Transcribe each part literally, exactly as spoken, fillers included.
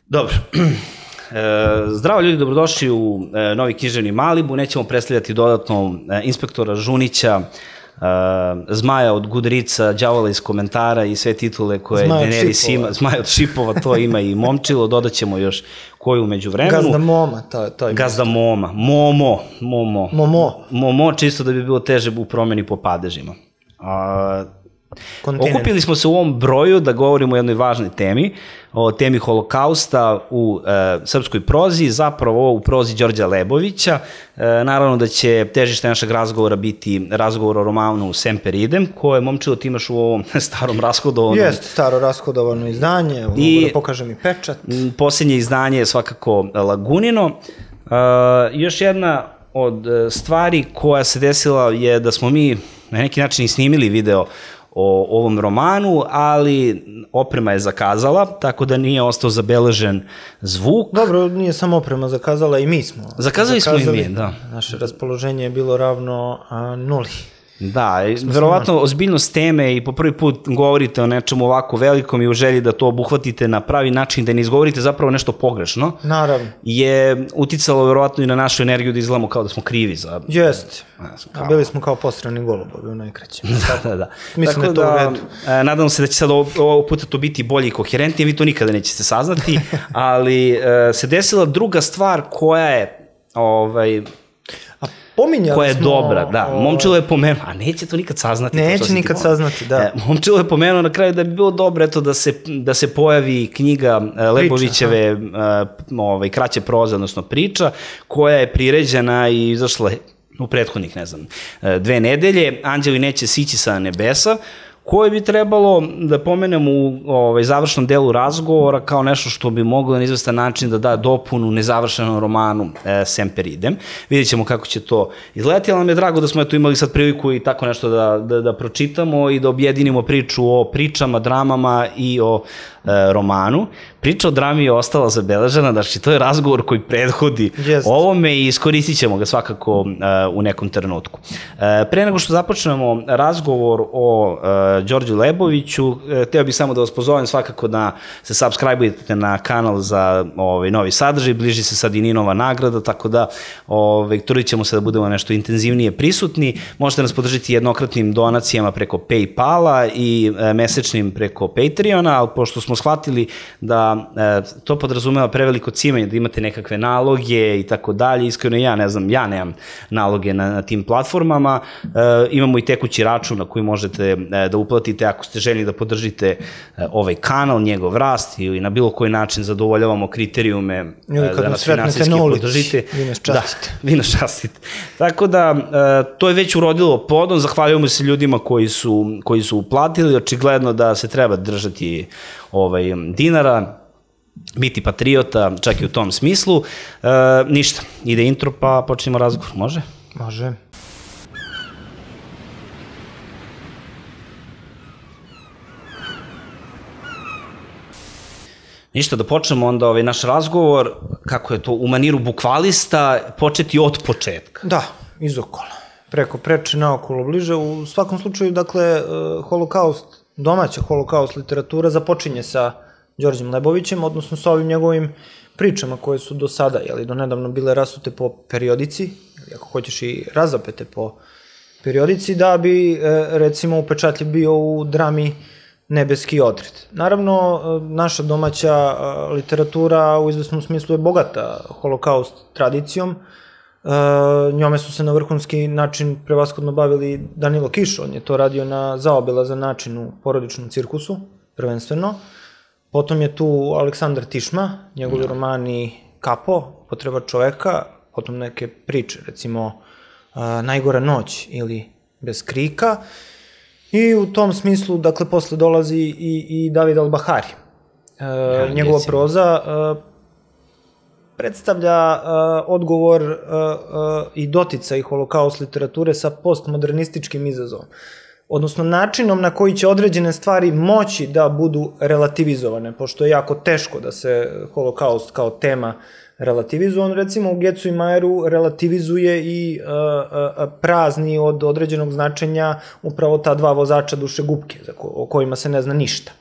Dobro. Zdravo ljudi, dobrodošli u novi književni Malibu. Nećemo predstavljati dodatno inspektora Žunića, Zmaja od Gudrica, Đavola iz komentara i sve titule koje Daenerys ima. Zmaja od Šipova, to ima i Momčilo, dodat ćemo još koju umeđu vremenu. Gazda Moma, to je. Gazda Moma, Momo, Momo. Momo. Momo, čisto da bi bilo teže u promeni po padežima. Okupili smo se u ovom broju da govorimo o jednoj važnoj temi, o temi holokausta u srpskoj prozi, zapravo u prozi Đorđa Lebovića. Naravno da će težište našeg razgovora biti razgovor o romanu Semper Idem, koje, Momčilo, ti imaš u ovom starom rashodovanom... Jeste, staro rashodovano izdanje, mogu da pokažem i pečat. Posljednje izdanje je svakako Lagunino. Još jedna od stvari koja se desila je da smo mi na neki način i snimili video o ovom romanu, ali oprema je zakazala, tako da nije ostao zabeležen zvuk. Dobro, nije samo oprema zakazala, i mi smo. Zakazali smo i mi, da. Naše raspoloženje je bilo ravno nuli. Da, verovatno ozbiljnost teme i po prvi put govorite o nečemu ovako velikom i u želji da to obuhvatite na pravi način, da ne izgovorite zapravo nešto pogrešno. Naravno. Je uticalo verovatno i na našu energiju da izgledamo kao da smo krivi za... Jeste. Bili smo kao posrani golubovi u najkraćem. Da, da, da. Mislim da je to u redu. Nadam se da će sad ovog puta to biti bolje i koherentnije, vi to nikada nećete saznati, ali se desila druga stvar koja je... koja je dobra, da. Momčilo je pomenuo, a neće to nikad saznati. Neće nikad saznati, da. Momčilo je pomenuo na kraju da bi bilo dobro eto da se pojavi knjiga Lebovićeve kraće proze, odnosno priča, koja je priređena i izašla u prethodnih, ne znam, dve nedelje, Anđeli neće sići sa nebesa, koje bi trebalo da pomenemo u završnom delu razgovora kao nešto što bi moglo na izvestan način da da dopunu nezavršenom romanu Semper Idem. Vidjet ćemo kako će to izgledati, ali nam je drago da smo imali sad priliku i tako nešto da pročitamo i da objedinimo priču o pričama, dramama i o romanu. Priča o drami je ostala zabeležena, znači to je razgovor koji prethodi ovome i iskoristit ćemo ga svakako u nekom trenutku. Pre nego što započnemo razgovor o Đorđu Leboviću, hteo bih samo da vas pozovem svakako da se subscribe-ujete na kanal za novi sadržaj, bliži se sad i Ninova nagrada, tako da trudit ćemo se da budemo nešto intenzivnije prisutni. Možete nas podržiti jednokratnim donacijama preko Paypala i mesečnim preko Patreona, ali pošto smo shvatili da to podrazumeva preveliko cimanje, da imate nekakve naloge i tako dalje, iskreno ja ne znam, ja nemam naloge na tim platformama, imamo i tekući račun na koji možete da uplatite ako ste željni da podržite ovaj kanal, njegov rast ili na bilo koji način zadovoljavamo kriterijume da nas finansijski podržite. Vi nas častite. Da, vi nas častite. Tako da, to je već urodilo plodom, zahvaljujemo se ljudima koji su uplatili, očigledno da se treba držati dinara, biti patriota, čak i u tom smislu. Ništa, ide intro pa počnemo razgovor, može? Može. Ništa, da počnemo onda ovaj naš razgovor, kako je to u maniru bukvalista, početi od početka. Da, iz okola. Preko preče, naokolo, bliže. U svakom slučaju, dakle, holokaust, domaća holokaust literatura započinje sa Đorđem Lebovićem, odnosno sa ovim njegovim pričama koje su do sada, jel, do nedavno bile rasute po periodici, ako hoćeš i razapete po periodici, da bi, recimo, upečatljiv bio u drami Nebeski odred. Naravno, naša domaća literatura u izvesnom smislu je bogata holokaust tradicijom. Njome su se na vrhunski način prevashodno bavili Danilo Kiš, on je to radio na zaobilazan način u porodičnom cirkusu, prvenstveno. Potom je tu Aleksandar Tišma, njegovi romani Kapo, Potreba čoveka, potom neke priče, recimo Najgora noć ili Bez krika. I u tom smislu, dakle, posle dolazi i David Al-Bahari. Njegova proza predstavlja odgovor i doticaj holokaust literature sa postmodernističkim izazovom. Odnosno, načinom na koji će određene stvari moći da budu relativizovane, pošto je jako teško da se holokaust kao tema relativizuje. On, recimo, u Gecu i Majeru relativizuje i prazni od određenog značenja upravo ta dva vozača dušegupke, o kojima se ne zna ništa.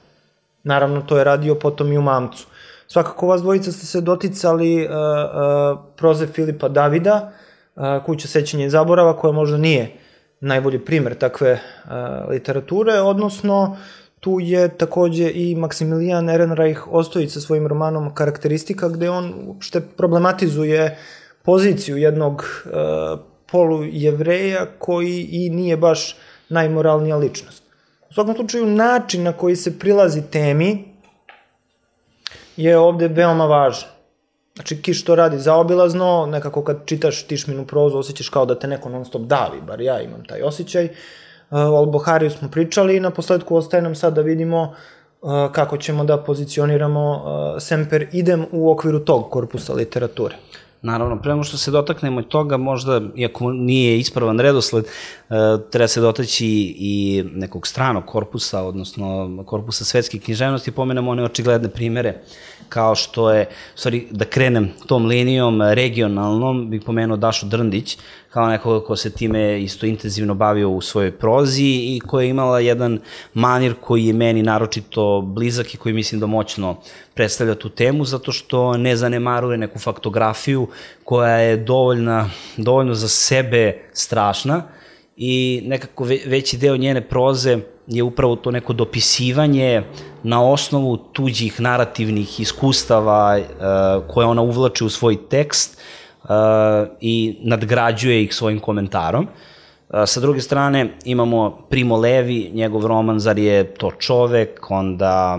Naravno, to je radio potom i u Mamcu. Svakako vas dvojica ste se doticali uh, uh, proze Filipa Davida, uh, Kuća sećanja i zaborava, koja možda nije najbolji primer takve uh, literature, odnosno tu je takođe i Maksimilijan Ehrenreich Ostojić sa svojim romanom Karakteristika, gde on uopšte problematizuje poziciju jednog uh, polujevreja koji i nije baš najmoralnija ličnost. U svakom slučaju, način na koji se prilazi temi je ovde veoma važan. Znači, Kiš to radi zaobilazno, nekako kad čitaš Tišminu prozu, osjećaš kao da te neko non stop davi, bar ja imam taj osjećaj. O Al-Buhariju smo pričali i na posledku ostaje nam sad da vidimo kako ćemo da pozicioniramo Semper Idem u okviru tog korpusa literature. Naravno, prema što se dotaknemo i toga, možda, iako nije ispravan redosled, treba se dotaći i nekog stranog korpusa, odnosno korpusa svetske književnosti, pomenemo one očigledne primere, kao što je, stvari, da krenem tom linijom regionalnom, bih pomenuo Dašu Drndić, kao nekoga ko se time isto intenzivno bavio u svojoj prozi i koja je imala jedan manir koji je meni naročito blizak i koji mislim da moćno predstavlja tu temu, zato što ne zanemaruje neku faktografiju koja je dovoljna, dovoljno za sebe strašna i nekako veći deo njene proze je upravo to neko dopisivanje na osnovu tuđih narativnih iskustava koje ona uvlači u svoj tekst i nadgrađuje ih svojim komentarom. Sa druge strane imamo Primo Levi, njegov roman Zar je to čovek, onda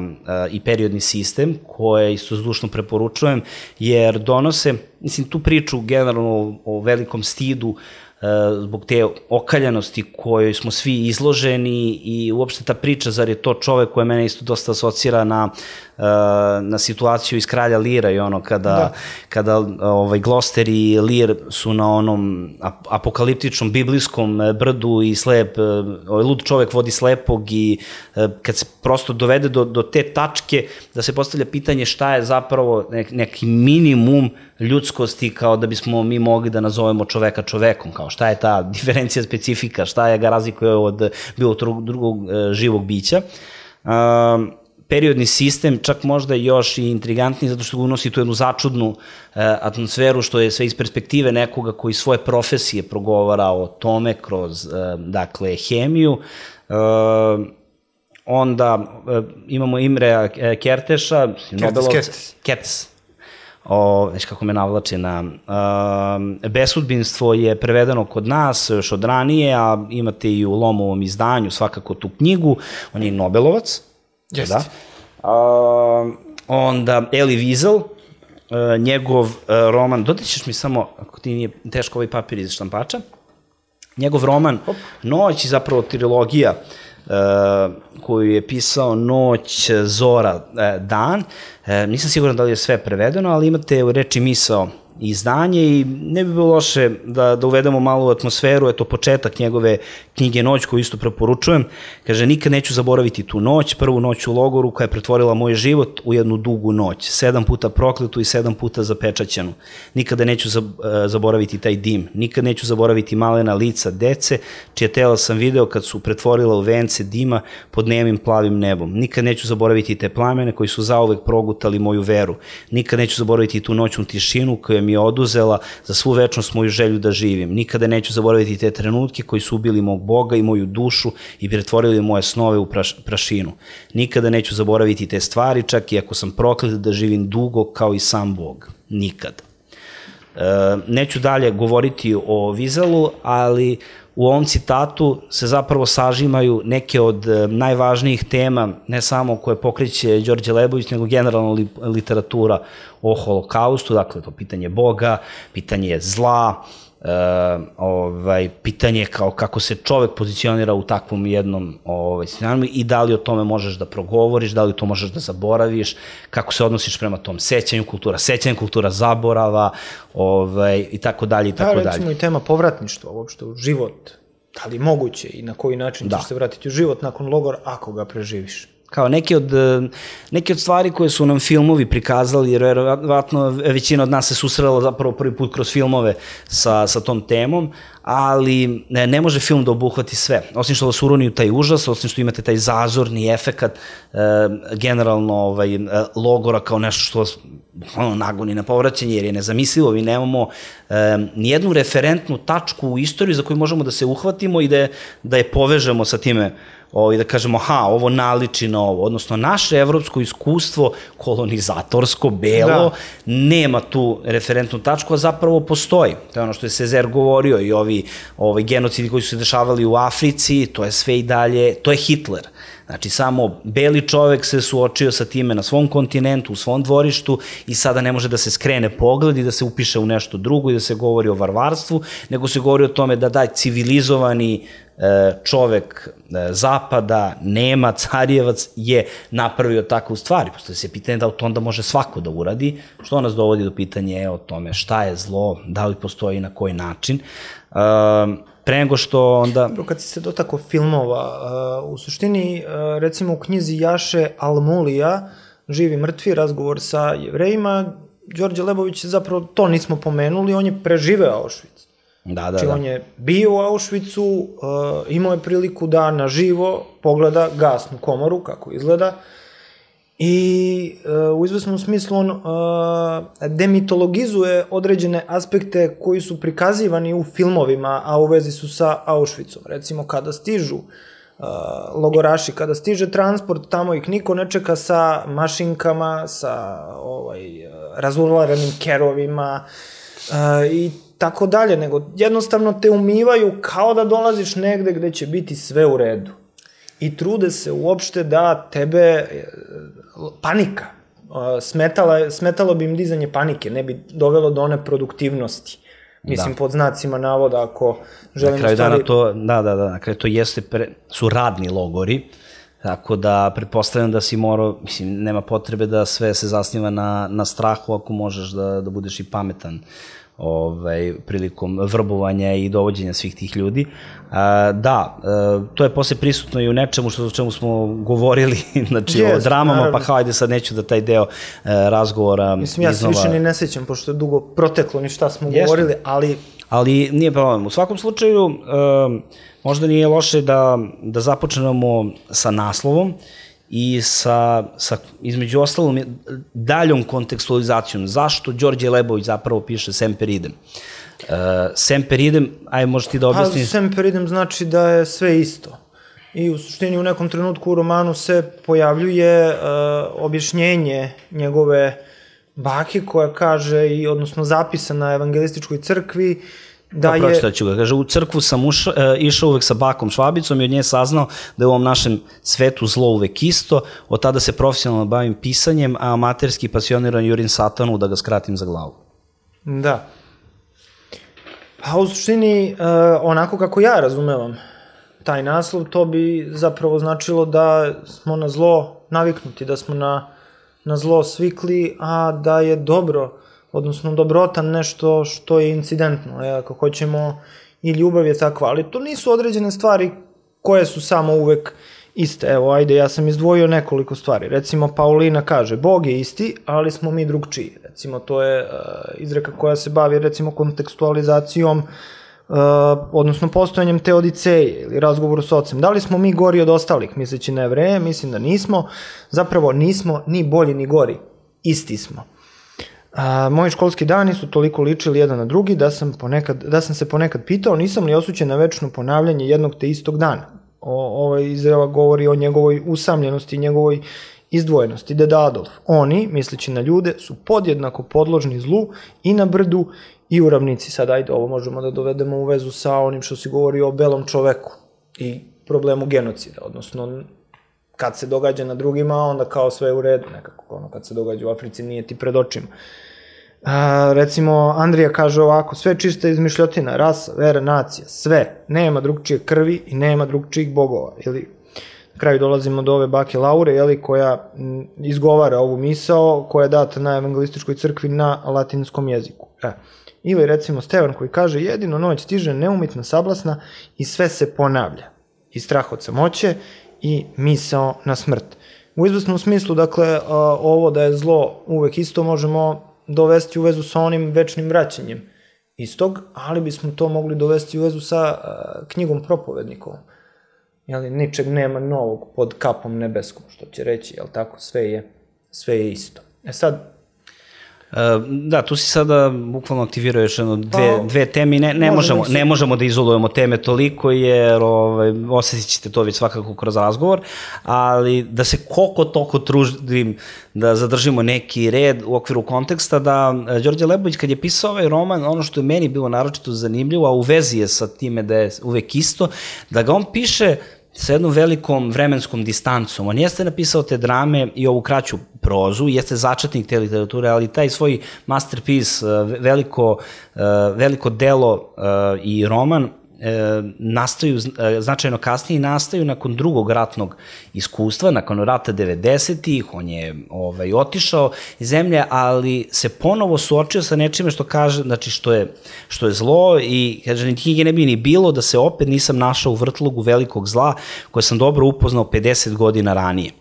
i Periodni sistem, koje isto zdušno preporučujem, jer donose, mislim, tu priču generalno o velikom stidu zbog te okaljanosti kojoj smo svi izloženi i uopšte ta priča Zar je to čovek, koja mene isto dosta asocira na, na situaciju iz Kralja Lira i ono kada, da. kada ovaj, Gloster i Lir su na onom apokaliptičnom biblijskom brdu i slep, ovaj, lud čovek vodi slepog i kad se prosto dovede do, do te tačke da se postavlja pitanje šta je zapravo nek, neki minimum ljudskosti kao da bismo mi mogli da nazovemo čoveka čovekom, kao šta je ta diferencija specifika, šta je ga razlikuje od bilo drugog živog bića. Periodni sistem čak možda još i intrigantniji zato što ga unosi tu jednu začudnu atmosferu, što je sve iz perspektive nekoga koji svoje profesije progovara o tome kroz, dakle, hemiju. Onda imamo Imrea Kertéša, Kertész, Kertész. O, već kako me navlači na uh, Besudbinstvo je prevedeno kod nas još od ranije, a imate i u Lomovom izdanju svakako tu knjigu, on je i Nobelovac. Jeste. Da. Uh, onda Elie Wiesel, uh, njegov uh, roman, dodaćeš mi samo, ako ti nije teško ovaj papir iz štampača, njegov roman Hop. Noć i zapravo trilogija Uh, koju je pisao Noć, Zora, uh, Dan. Uh, nisam siguran da li je sve prevedeno, ali imate u reči misao izdanje i ne bi bilo loše da, da uvedemo malo u atmosferu, eto početak njegove knjige Noć, koju isto preporučujem. Kaže, nikad neću zaboraviti tu noć, prvu noć u logoru koja je pretvorila moj život u jednu dugu noć, sedam puta prokletu i sedam puta zapečaćenu. Nikada neću zaboraviti taj dim, nikad neću zaboraviti malena lica dece, čije tela sam video kad su pretvorila u vence dima pod nemim plavim nebom. Nikad neću zaboraviti te plamene koji su zauvek progutali moju veru. Nikad neću zaboraviti tu noćnu tišinu koja mi je oduzela za svu večnost moju želju da živim. Nikada neću zaboraviti te trenutke koji su ubili mog Boga i moju dušu i pretvorili moje snove u praš, prašinu. Nikada neću zaboraviti te stvari, čak i ako sam proklet da živim dugo kao i sam Bog. Nikada. E, neću dalje govoriti o Wieselu, ali u ovom citatu se zapravo sažimaju neke od najvažnijih tema, ne samo koje pokreće Đorđe Lebović, nego generalno li, literatura o holokaustu, dakle to pitanje Boga, pitanje zla, e, ovaj, pitanje kao kako se čovek pozicionira u takvom jednom ovaj, scenariju i da li o tome možeš da progovoriš, da li to možeš da zaboraviš, kako se odnosiš prema tom sećanju, kultura sećanja, kultura zaborava, ovaj, i tako dalje, i tako dalje. Da, recimo i tema povratništva uopšte u život, da li moguće i na koji način da. ćeš se vratiti u život nakon logora ako ga preživiš. kao neke od, neke od stvari koje su nam filmovi prikazali, jer verovatno većina od nas se susrela zapravo prvi put kroz filmove sa, sa tom temom, ali ne, ne može film da obuhvati sve. Osim što vas uroni u taj užas, osim što imate taj zazorni efekat, e, generalno ovaj, logora kao nešto što vas ono, nagoni na povraćanje, jer je nezamislivo, mi nemamo e, nijednu referentnu tačku u istoriji za koju možemo da se uhvatimo i da je, da je povežemo sa time, i da kažemo, ha, ovo naliči na ovo, odnosno naše evropsko iskustvo, kolonizatorsko, belo, nema tu referentnu tačku, a zapravo postoji. To je ono što je Sezer govorio i ovi, ovi genocidi koji su se dešavali u Africi, to je sve i dalje, to je Hitler. Znači, samo beli čovek se suočio sa time na svom kontinentu, u svom dvorištu i sada ne može da se skrene pogled i da se upiše u nešto drugo i da se govori o varvarstvu, nego se govori o tome da daj civilizovani čovek zapada, Nemac, Arijevac je napravio takvu stvari. Postoje se pitanje da to onda može svako da uradi, što nas dovodi do pitanja o tome šta je zlo, da li postoji i na koji način. Pre nego što onda... Kad si se dotako filmova, u suštini, recimo u knjizi Jaše Almulija, Živi mrtvi, razgovor sa Jevrejima, Đorđe Lebović zapravo to nismo pomenuli, on je preživeo Auschwitz. Da, da, znači, da. on je bio u Auschwitzu, uh, imao je priliku da naživo pogleda gasnu komoru, kako izgleda, i uh, u izvesnom smislu on uh, demitologizuje određene aspekte koji su prikazivani u filmovima, a u vezi su sa Auschwitzom. Recimo, kada stižu uh, logoraši, kada stiže transport, tamo ih niko ne čeka sa mašinkama, sa ovaj, razurlaranim kerovima uh, i tako dalje, nego jednostavno te umivaju kao da dolaziš negde gde će biti sve u redu. I trude se uopšte da tebe, panika, smetala, smetalo bi im dizanje panike, ne bi dovelo do one produktivnosti. Mislim, pod znacima navoda, ako želimo... Na kraju dana to, da, da, da, na kraju to jeste, su radni logori, tako da pretpostavljam da si morao, mislim, nema potrebe da sve se zasniva na, na strahu ako možeš da, da budeš i pametan ovaj, prilikom vrbovanja i dovođenja svih tih ljudi. A, da, a, to je posle prisutno i u nečemu što, o čemu smo govorili, znači yes, o dramama, naravno. Pa kao ajde sad neću da taj deo a, razgovora Mislim, ja iznova... se više ni ne sećam, pošto je dugo proteklo ni šta smo Jeste. govorili, ali... Ali nije problem. U svakom slučaju, a, možda nije loše da, da započnemo sa naslovom i sa, sa, između ostalom, daljom kontekstualizacijom. Zašto Đorđe Lebović zapravo piše Semper Idem? Uh, Semper Idem, aj možeš ti da objasniš? Pa, Semper Idem znači da je sve isto. I u suštini u nekom trenutku u romanu se pojavljuje uh, objašnjenje njegove bake koja kaže, i odnosno zapisa na evangelističkoj crkvi, da je... Pročitaću ću ga. Kaže, u crkvu sam ušao, e, išao uvek sa bakom Švabicom i od nje saznao da je u ovom našem svetu zlo uvek isto. Od tada se profesionalno bavim pisanjem, a amaterski pasioniran jurim satanu da ga skratim za glavu. Da. Pa u suštini, e, onako kako ja razumevam taj naslov, to bi zapravo značilo da smo na zlo naviknuti, da smo na, na zlo svikli, a da je dobro, odnosno dobrotan nešto što je incidentno, e, ako hoćemo, i ljubav je takva, ali to nisu određene stvari koje su samo uvek iste. Evo, ajde, ja sam izdvojio nekoliko stvari. Recimo, Paulina kaže, Bog je isti, ali smo mi drugčiji. Recimo, to je uh, izreka koja se bavi, recimo, kontekstualizacijom, uh, odnosno postojanjem teodiceje ili razgovoru s ocem. Da li smo mi gori od ostalih, misleći na Jevreje? Mislim da nismo. Zapravo, nismo ni bolji ni gori. Isti smo. A, moji školski dani su toliko ličili jedan na drugi da sam, ponekad, da sam se ponekad pitao nisam li osuđen na večno ponavljanje jednog te istog dana. O, ovaj izreva govori o njegovoj usamljenosti i njegovoj izdvojenosti. Deda Adolf, oni, misleći na ljude, su podjednako podložni zlu i na brdu i u ravnici. Sad, ajde, ovo možemo da dovedemo u vezu sa onim što si govori o belom čoveku i problemu genocida, odnosno kad se događa na drugima, onda kao sve u redu, nekako, ono, kad se događa u Africi, nije ti pred očima. A, recimo, Andrija kaže ovako, sve čista izmišljotina, rasa, vera, nacija, sve, nema drugčije krvi i nema drugčijih bogova, ili na kraju dolazimo do ove bake Laure, jeli, koja m, izgovara ovu misao, koja je data na evangelističkoj crkvi na latinskom jeziku. E. Ili recimo Stevan koji kaže, jedino noć stiže neumitna sablasna i sve se ponavlja, i strah od samoće, i misao na smrt. u izvesnom smislu, dakle, ovo da je zlo uvek isto možemo dovesti u vezu sa onim večnim vraćanjem istog, ali bismo to mogli dovesti u vezu sa knjigom propovednikovom. Jeli, ničeg nema novog pod kapom nebeskom, što će reći, jel tako, sve je, sve je isto. E sad, Da, tu si sada bukvalno aktivirao još jedno dve, dve teme i ne, ne, možemo, ne možemo da izolujemo teme toliko jer ovaj, osjetit ćete to već svakako kroz razgovor, ali da se koliko toliko trudim da zadržimo neki red u okviru konteksta, da Đorđe Lebović kad je pisao ovaj roman, ono što je meni bilo naročito zanimljivo, a u vezi je sa time da je uvek isto, da ga on piše sa jednom velikom vremenskom distancom. On jeste napisao te drame i ovu kraću prozu, jeste začetnik te literature, ali taj svoj masterpiece, veliko, veliko delo i roman nastaju značajno kasnije i nastaju nakon drugog ratnog iskustva, nakon rata devedesetih, on je ovaj, otišao iz zemlje, ali se ponovo suočio sa nečime što kaže, znači što je, što je zlo i kaže, ni knjige ne bi ni bilo da se opet nisam našao u vrtlogu velikog zla koje sam dobro upoznao pedeset godina ranije.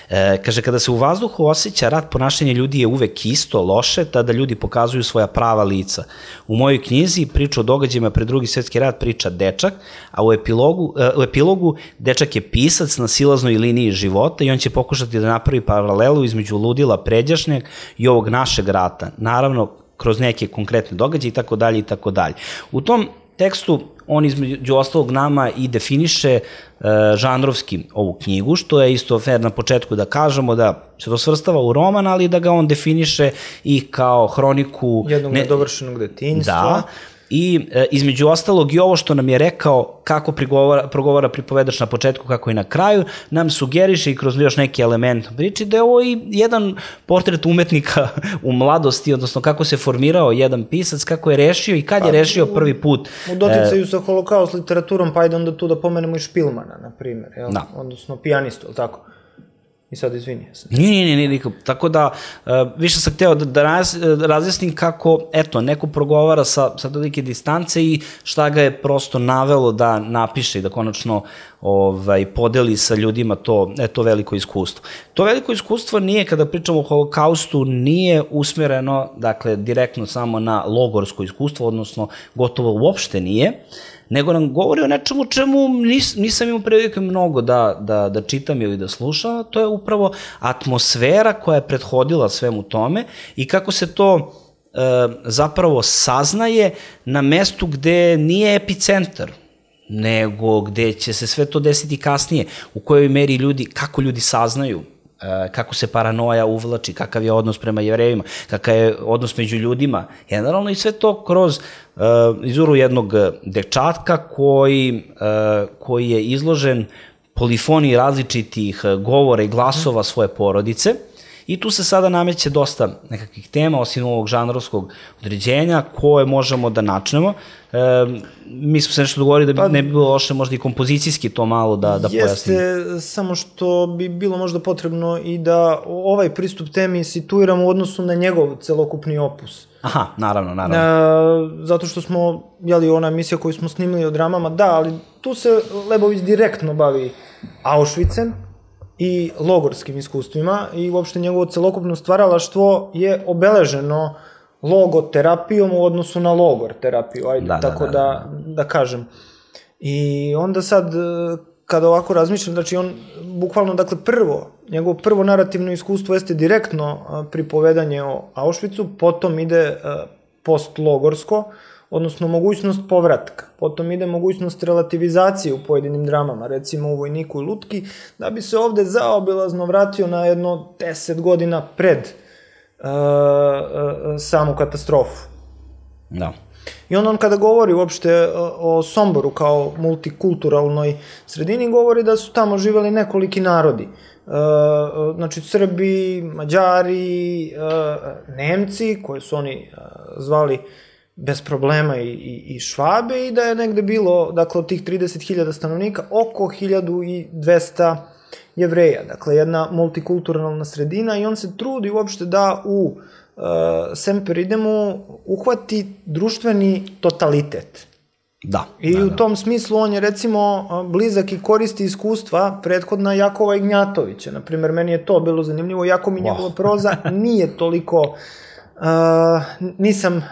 E, kaže, kada se u vazduhu osjeća rat, ponašanje ljudi je uvek isto, loše, tada ljudi pokazuju svoja prava lica. U mojoj knjizi priča o događajima pred drugi svetski rat priča dečak, a u epilogu, u epilogu dečak je pisac na silaznoj liniji života i on će pokušati da napravi paralelu između ludila pređašnjeg i ovog našeg rata. Naravno, kroz neke konkretne događaje i tako dalje i tako dalje. U tom tekstu on između ostalog nama i definiše uh, žanrovski ovu knjigu, što je isto fair na početku da kažemo da se to svrstava u roman, ali da ga on definiše i kao hroniku jednog ne... nedovršenog detinjstva. Da, i e, između ostalog i ovo što nam je rekao kako prigovara, progovara pripovedač na početku, kako i na kraju, nam sugeriše i kroz još neki element priči da je ovo i jedan portret umetnika u mladosti, odnosno kako se formirao jedan pisac, kako je rešio i kad pa, je rešio prvi put. U doticaju e, sa holokaust literaturom, pa ajde onda tu da pomenemo i Špilmana, na primjer, jel? Da. Odnosno pijanistu, ali tako? I sad izvini. Nije, nije, nije, nije. Tako da, uh, više sam hteo da, da raz, razjasnim kako, eto, neko progovara sa, sa tolike distance i šta ga je prosto navelo da napiše i da konačno ovaj, podeli sa ljudima to, e, to veliko iskustvo. To veliko iskustvo nije, kada pričamo o holokaustu, nije usmjereno, dakle, direktno samo na logorsko iskustvo, odnosno gotovo uopšte nije, nego nam govori o nečemu čemu nis, nisam imao prilike mnogo da, da, da čitam ili da slušam, to je upravo atmosfera koja je prethodila svemu tome i kako se to e, zapravo saznaje na mestu gde nije epicentar, nego gde će se sve to desiti kasnije, u kojoj meri ljudi, kako ljudi saznaju, kako se paranoja uvlači, kakav je odnos prema Jevrejima, kakav je odnos među ljudima, generalno i sve to kroz uh, izvoru jednog dečatka koji, uh, koji je izložen polifoniji različitih govora i glasova svoje porodice i tu se sada nameće dosta nekakvih tema, osim ovog žanrovskog određenja, koje možemo da načnemo. E, mi smo se nešto dogovorili da bi, pa, ne bi bilo loše možda i kompozicijski to malo da, da pojasnimo. Jeste, samo što bi bilo možda potrebno i da ovaj pristup temi situiramo u odnosu na njegov celokupni opus. Aha, naravno, naravno. E, zato što smo, jeli, ona emisija koju smo snimili o dramama, da, ali tu se Lebović direktno bavi Auschwitzem i logorskim iskustvima i uopšte njegovo celokupno stvaralaštvo je obeleženo logoterapijom u odnosu na logor terapiju, ajde, da, tako da, da, da, da kažem. I onda sad, kada ovako razmišljam, znači on bukvalno, dakle, prvo, njegovo prvo narativno iskustvo jeste direktno pripovedanje o Auschwitzu, potom ide postlogorsko, odnosno mogućnost povratka. Potom ide mogućnost relativizacije u pojedinim dramama, recimo u Vojniku i Lutki, da bi se ovde zaobilazno vratio na jedno deset godina pred uh, uh, samu katastrofu. Da. I on, on kada govori uopšte o Somboru kao multikulturalnoj sredini, govori da su tamo živeli nekoliki narodi. Uh, znači Srbi, Mađari, uh, Nemci, koje su oni uh, zvali bez problema i, i, i Švabe, i da je negde bilo, dakle, od tih trideset hiljada stanovnika, oko hiljadu dvesta Jevreja. Dakle, jedna multikulturalna sredina i on se trudi uopšte da u uh, Semper Idemu uhvati društveni totalitet. Da. I da, u da. tom smislu on je recimo blizak i koristi iskustva prethodna Jakova Ignjatovića. Naprimer, meni je to bilo zanimljivo. Jako mi njegova proza nije toliko, uh, nisam, uh,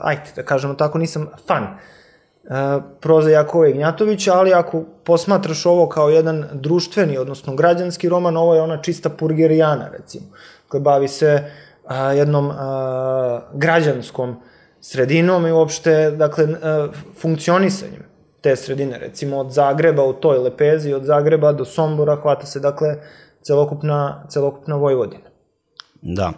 ajde da kažemo tako, nisam fan uh, proza Jakova Ignjatovića, ali ako posmatraš ovo kao jedan društveni, odnosno građanski roman, ovo je ona čista purgerijana, recimo, koja bavi se uh, jednom uh, građanskom sredinom i uopšte, dakle, funkcionisanjem te sredine, recimo od Zagreba u toj lepezi, od Zagreba do Sombora hvata se, dakle, celokupna, celokupna Vojvodina. Da.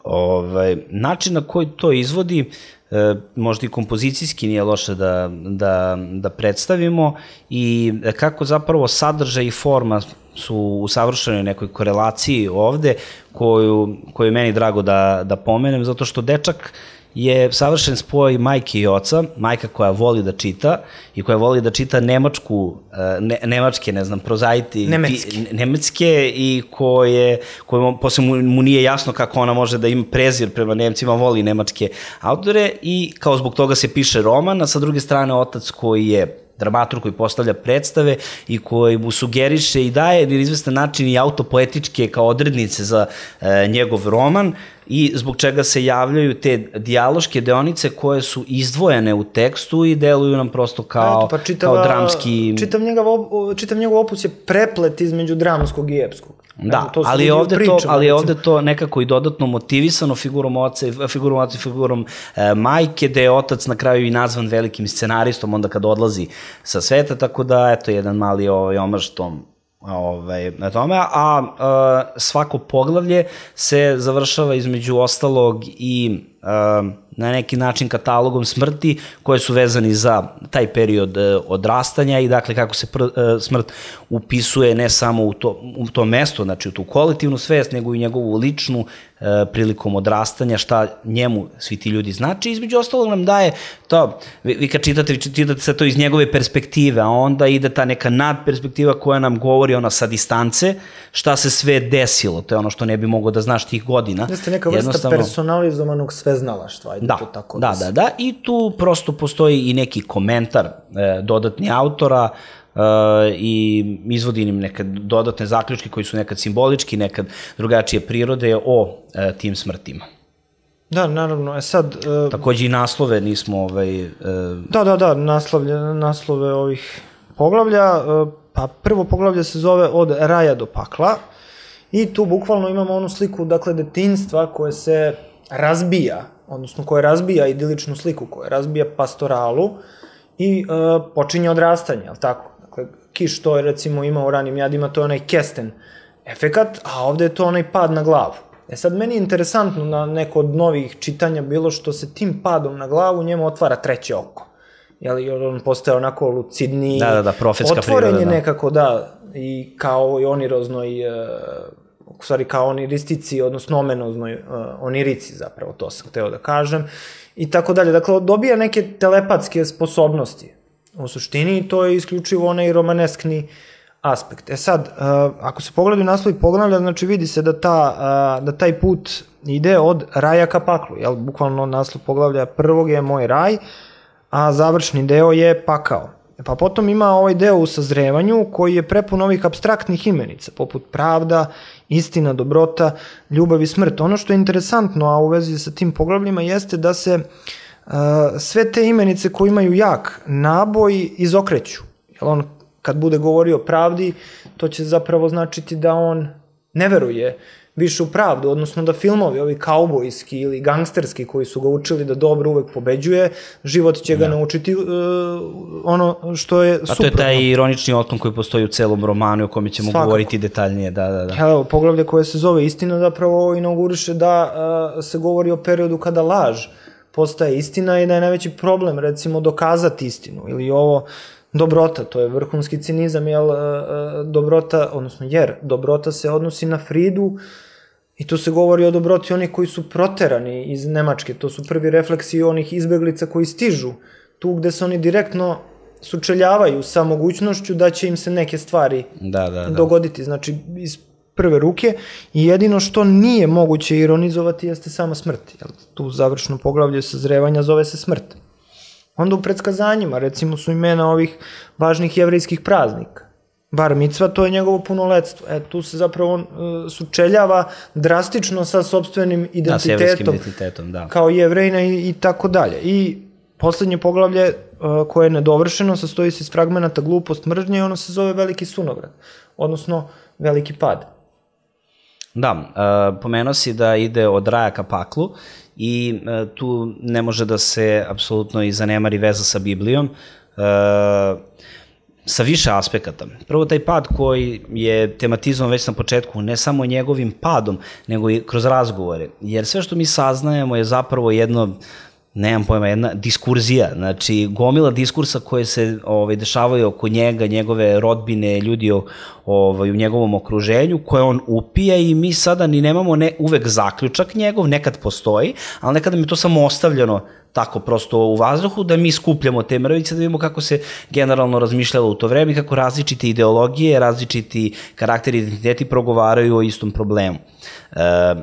Ovaj, način na koji to izvodi, e, možda i kompozicijski nije loše da, da, da predstavimo i kako zapravo sadržaj i forma su u savršenoj nekoj korelaciji ovde, koju, koju je meni drago da, da pomenem, zato što dečak je savršen spoj majke i oca, majka koja voli da čita i koja voli da čita nemačku, ne, nemačke, ne znam, prozaiti, nemetske, nemetske i koje, koje posle mu, mu nije jasno kako ona može da ima prezir prema Nemcima, voli nemačke autore i kao zbog toga se piše roman, a sa druge strane otac koji je dramaturg koji postavlja predstave i koji mu sugeriše i daje na izvestan način i autopoetičke kao odrednice za e, njegov roman i zbog čega se javljaju te dijaloške deonice koje su izdvojene u tekstu i deluju nam prosto kao, Eto, pa čitava, kao dramski... Čitav njegov, čitav njegov opus je preplet između dramskog i epskog. Da, to ali, ovde pričama, to, ali je ovde to nekako i dodatno motivisano figurom oca, figurom oca i figurom e, majke, da je otac na kraju i nazvan velikim scenaristom onda kad odlazi sa sveta, tako da, eto, jedan mali ovaj, omaž tom ovaj, na tome, a, a svako poglavlje se završava između ostalog i a, na neki način katalogom smrti koje su vezani za taj period e, odrastanja i dakle kako se pr, e, smrt upisuje ne samo u to, u to mesto, znači u tu kolektivnu svest, nego i njegovu ličnu e, prilikom odrastanja, šta njemu svi ti ljudi znači. Između ostalog nam daje to, vi, vi kad čitate, vi čitate se to iz njegove perspektive, a onda ide ta neka nadperspektiva koja nam govori ona sa distance, šta se sve desilo, to je ono što ne bi mogao da znaš tih godina. Jeste neka vrsta personalizovanog sveznalaštva. Da, da, da, da, i tu prosto postoji i neki komentar e, dodatni autora e, i izvodi im neke dodatne zaključke koji su nekad simbolički, nekad drugačije prirode o e, tim smrtima. Da, naravno, e sad... E, Takođe i naslove nismo... Ovaj, e, da, da, da, naslovlje, naslove ovih poglavlja, e, pa prvo poglavlje se zove Od raja do pakla i tu bukvalno imamo onu sliku, dakle, detinjstva koje se razbija, odnosno koje razbija idiličnu sliku, koje razbija pastoralu i e, počinje odrastanje, ali tako? Dakle, Kiš to je recimo ima u Ranim jadima, to je onaj kesten efekat, a ovde je to onaj pad na glavu. E sad, meni je interesantno na neko od novih čitanja bilo što se tim padom na glavu njemu otvara treće oko. Jel, on postaje onako lucidniji, da, da, da, profetska otvoren priroda, je da. nekako, da, i kao i oniroznoj, e, u stvari kao oniristici, odnosno omenoznoj uh, onirici zapravo, to sam hteo da kažem, i tako dalje. Dakle, dobija neke telepatske sposobnosti u suštini i to je isključivo onaj romaneskni aspekt. E sad, uh, ako se pogledaju naslovi poglavlja, znači vidi se da, ta, uh, da taj put ide od raja ka paklu, jel? Bukvalno naslov poglavlja prvog je Moj raj, a završni deo je Pakao. Pa potom ima ovaj deo u sazrevanju koji je prepun ovih apstraktnih imenica, poput pravda, istina, dobrota, ljubav i smrt. Ono što je interesantno, a u vezi sa tim poglavljima, jeste da se uh, sve te imenice koje imaju jak naboj izokreću. Jer on kad bude govorio o pravdi, to će zapravo značiti da on ne veruje više u pravdu, odnosno da filmovi, ovi kaubojski ili gangsterski koji su ga učili da dobro uvek pobeđuje, život će ga ja. naučiti uh, ono što je suprotno. A to je taj ironični otklon koji postoji u celom romanu o kome ćemo Svakako. govoriti detaljnije. Da, da, da. Evo, poglavlje koje se zove Istina zapravo inauguriše da uh, se govori o periodu kada laž postaje istina i da je najveći problem, recimo, dokazati istinu. Ili ovo dobrota, to je vrhunski cinizam, jer uh, dobrota, odnosno jer dobrota se odnosi na Fridu i tu se govori o dobroti onih koji su proterani iz Nemačke. To su prvi refleksi onih izbeglica koji stižu tu gde se oni direktno sučeljavaju sa mogućnošću da će im se neke stvari da, da, da. dogoditi. Znači, iz prve ruke i jedino što nije moguće ironizovati jeste sama smrt. Tu završno poglavlje sazrevanja zove se smrt. Onda u predskazanjima, recimo, su imena ovih važnih jevrejskih praznika. Bar micva, to je njegovo punoletstvo. E, tu se zapravo on uh, sučeljava drastično sa sopstvenim identitetom. Da, s jevrejskim identitetom, da. Kao jevrejna i, i tako dalje. I poslednje poglavlje uh, koje je nedovršeno, sastoji se iz fragmenata glupost, mržnje i ono se zove veliki sunovrat, odnosno veliki pad. Da, uh, pomenuo si da ide od raja ka paklu i uh, tu ne može da se apsolutno i zanemari veza sa Biblijom. Uh, sa više aspekata. Prvo taj pad koji je tematizovan već na početku, ne samo njegovim padom, nego i kroz razgovore. Jer sve što mi saznajemo je zapravo jedno, nemam pojma, jedna diskurzija, znači gomila diskursa koje se ovaj, dešavaju oko njega, njegove rodbine, ljudi ovaj, u njegovom okruženju, koje on upija i mi sada ni nemamo ne, uvek zaključak njegov, nekad postoji, ali nekada mi je to samo ostavljeno tako prosto u vazduhu, da mi skupljamo te mrvice, da vidimo kako se generalno razmišljalo u to vreme, kako različite ideologije, različiti karakteri i identiteti progovaraju o istom problemu. E,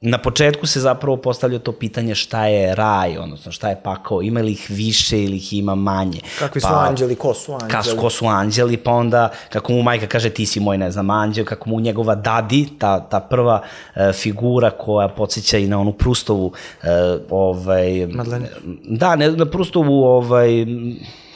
na početku se zapravo postavlja to pitanje šta je raj, odnosno šta je pakao, ima li ih više ili ih ima manje. Kakvi su pa, anđeli, ko su anđeli? Kas, ko su anđeli, pa onda kako mu majka kaže ti si moj, ne znam, anđel, kako mu njegova dadi, ta, ta prva e, figura koja podsjeća i na onu Prustovu e, ovaj, Madeleine. Da, ne, na Prustovu ovaj,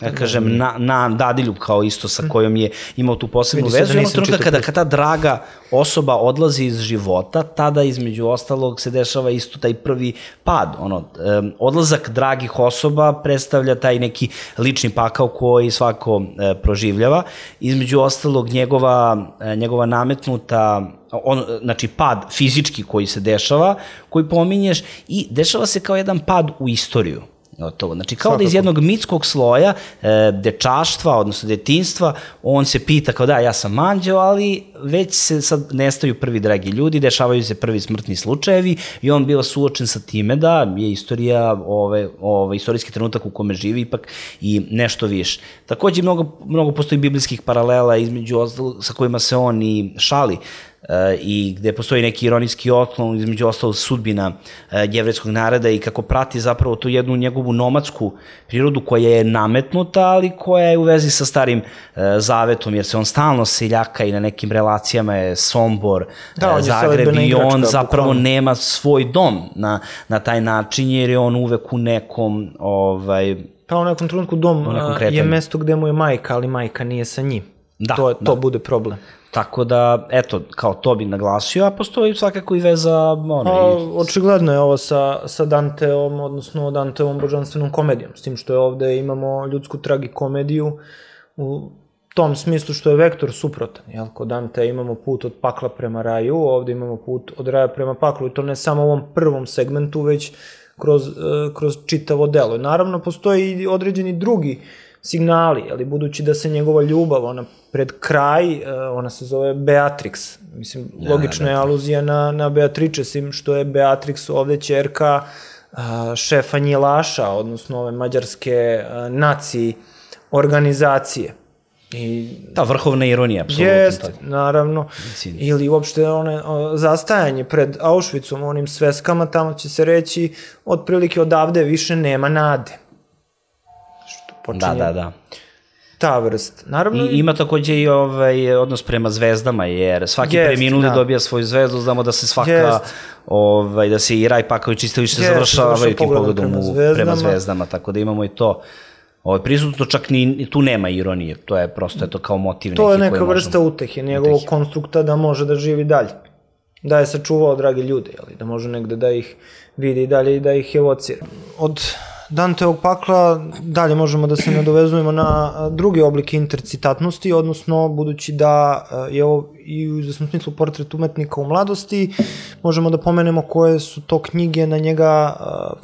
ja kažem, na, na dadiljub kao isto sa kojom je imao tu posebnu vezu. I ono trenutka kada, kada ta draga osoba odlazi iz života, tada između ostalog se dešava isto taj prvi pad. Ono, um, odlazak dragih osoba predstavlja taj neki lični pakao koji svako uh, proživljava. Između ostalog njegova, uh, njegova nametnuta on, znači pad fizički koji se dešava, koji pominješ i dešava se kao jedan pad u istoriju. Gotovo. Znači, kao da iz jednog mitskog sloja, e, dečaštva, odnosno detinjstva, on se pita kao da, ja sam anđeo, ali već se sad nestaju prvi dragi ljudi, dešavaju se prvi smrtni slučajevi i on biva suočen sa time da je istorija, ove, ove, istorijski trenutak u kome živi ipak i nešto više. Takođe, mnogo, mnogo postoji biblijskih paralela između ostalog sa kojima se on i šali, i gde postoji neki ironijski otklon između ostalog sudbina jevrejskog naroda i kako prati zapravo tu jednu njegovu nomadsku prirodu koja je nametnuta, ali koja je u vezi sa starim zavetom, jer se on stalno seljaka i na nekim relacijama je Sombor, da, Zagreb i igračka, on zapravo bukvalno nema svoj dom na, na taj način, jer je on uvek u nekom ovaj, pa u nekom trenutku dom je mesto gde mu je majka, ali majka nije sa njim. Da, to, to da. bude problem. Tako da, eto, kao to bih naglasio, a postoji svakako i veza... Ono, a, i... Očigledno je ovo sa, sa Danteom, odnosno Danteovom božanstvenom komedijom, s tim što je ovde imamo ljudsku tragikomediju u tom smislu što je vektor suprotan. Jel? Kod Dante imamo put od pakla prema raju, ovde imamo put od raja prema paklu i to ne samo u ovom prvom segmentu, već kroz, kroz čitavo delo. Naravno, postoji i određeni drugi signali, ali budući da se njegova ljubav, ona pred kraj, ona se zove Beatrix. Mislim, logična je aluzija na, na Beatrice, sim što je Beatrix ovde ćerka šefa njilaša, odnosno ove mađarske naci organizacije. I ta vrhovna ironija, apsolutno. Jeste, naravno. Ili uopšte one, zastajanje pred Auschwitzom, onim sveskama, tamo će se reći, otprilike odavde više nema nade. Da, da, da. Ta vrst. Naravno... I ima takođe i ovaj odnos prema zvezdama, jer svaki jest, preminuli da. dobija svoju zvezdu, znamo da se svaka, jest. ovaj, da se i raj pakao i čistilište završavaju tim pogledom prema zvezdama. prema zvezdama, tako da imamo i to. Ovaj, prisutno čak ni tu nema ironije, to je prosto eto, kao motiv neki koji možemo... To je neka vrsta utehe, njegovog utehe. konstrukta da može da živi dalje. Da je sačuvao drage ljude, jeli, da može negde da ih vidi dalje i da ih evocira. Od Danteovog pakla dalje možemo da se nadovezujemo na drugi oblik intercitatnosti, odnosno budući da je ovo i u izvesnom smislu portret umetnika u mladosti, možemo da pomenemo koje su to knjige na njega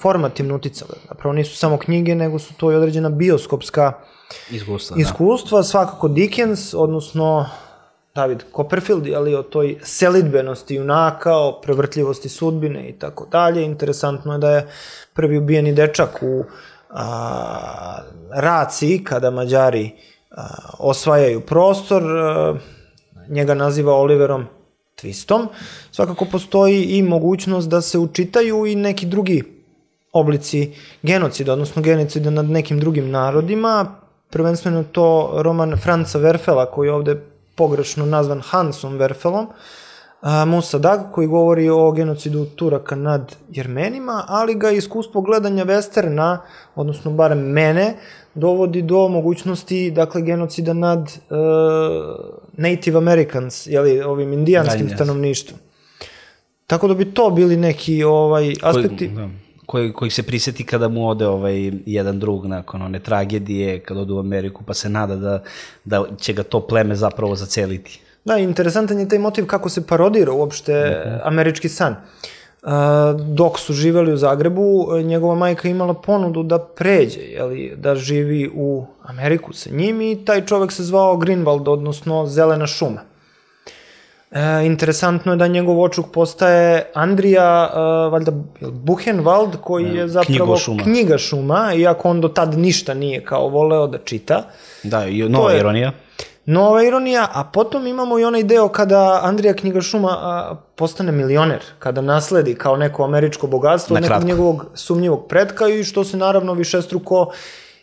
formativno uticale. Napravo nisu samo knjige, nego su to i određena bioskopska iskustva. iskustva. Svakako Dickens, odnosno David Copperfield, ali o toj selidbenosti junaka, o prevrtljivosti sudbine i tako dalje. Interesantno je da je prvi ubijeni dečak u a, Raciji, kada Mađari a, osvajaju prostor, a, njega naziva Oliverom Twistom. Svakako postoji i mogućnost da se učitaju i neki drugi oblici genocida, odnosno genocida nad nekim drugim narodima, prvenstveno to roman Franca Werfela, koji je ovde pogrešno nazvan Hansom Werfelom, Musa Dag, koji govori o genocidu Turaka nad Jermenima, ali ga iskustvo gledanja westerna, odnosno barem mene, dovodi do mogućnosti, dakle, genocida nad uh, Native Americans, jeli, ovim indijanskim da, stanovništvom. Tako da bi to bili neki ovaj, aspekti... Koji, da. Koji, koji se prisjeti kada mu ode ovaj jedan drug nakon one tragedije, kada ode u Ameriku, pa se nada da, da će ga to pleme zapravo zaceliti. Da, interesantan je taj motiv kako se parodira uopšte uh-huh. američki san. Uh, dok su živeli u Zagrebu, njegova majka imala ponudu da pređe, jeli, da živi u Ameriku sa njim i taj čovek se zvao Greenwald, odnosno Zelena šuma. E, interesantno je da njegov očuk postaje Andrija, uh, valjda Buchenwald, koji je zapravo šuma. knjiga šuma, iako on do tad ništa nije kao voleo da čita. Da, i nova je ironija. Nova ironija, a potom imamo i onaj deo kada Andrija knjiga šuma a, postane milioner, kada nasledi kao neko američko bogatstvo od nekog njegovog sumnjivog pretka i što se naravno višestruko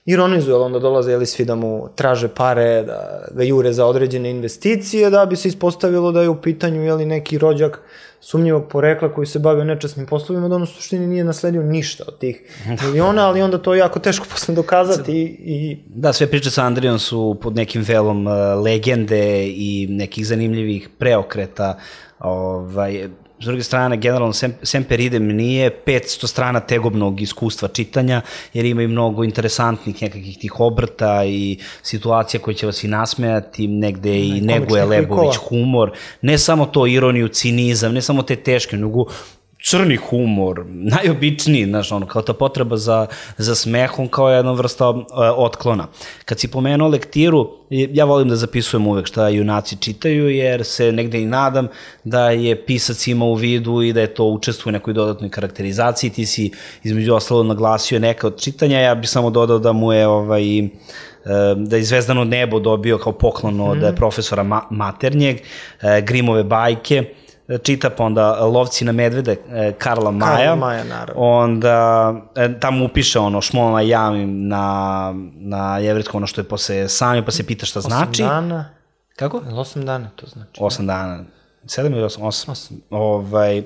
ironizuje, ali onda dolaze jeli svi da mu traže pare, da ga jure za određene investicije, da bi se ispostavilo da je u pitanju jeli neki rođak sumnjivog porekla koji se bavio nečasnim poslovima, da on u suštini nije nasledio ništa od tih miliona, ali onda to je jako teško posle dokazati i... Da, sve priče sa Andrijom su pod nekim velom uh, legende i nekih zanimljivih preokreta, ovaj... S druge strane, generalno, Semper Idem nije petsto strana tegobnog iskustva čitanja, jer ima i mnogo interesantnih nekakvih tih obrta i situacija koje će vas i nasmejati, negde i neguje Lebović humor. Ne samo to ironiju, cinizam, ne samo te teške, nego crni humor, najobičniji, znaš, ono, kao ta potreba za, za smehom, kao jedna vrsta uh, otklona. Kad si pomenuo lektiru, ja volim da zapisujem uvek šta junaci čitaju, jer se negde i nadam da je pisac ima u vidu i da je to učestvuje u nekoj dodatnoj karakterizaciji. Ti si između ostalo naglasio neka od čitanja, ja bih samo dodao da mu je ovaj, da je Zvezdano nebo dobio kao poklon od mm-hmm. profesora Ma Maternjeg, Grimove bajke, čita, pa onda Lovci na medvede Karla Maja, Karla Maja naravno. Onda tamo upiše ono Šmolna jamim na, na jevrijskom, ono što je posle sami, pa se pita šta znači. Osam dana. Kako? Osam dana to znači. Osam dana. Sedam ili osam? Osam. osam. Ovaj,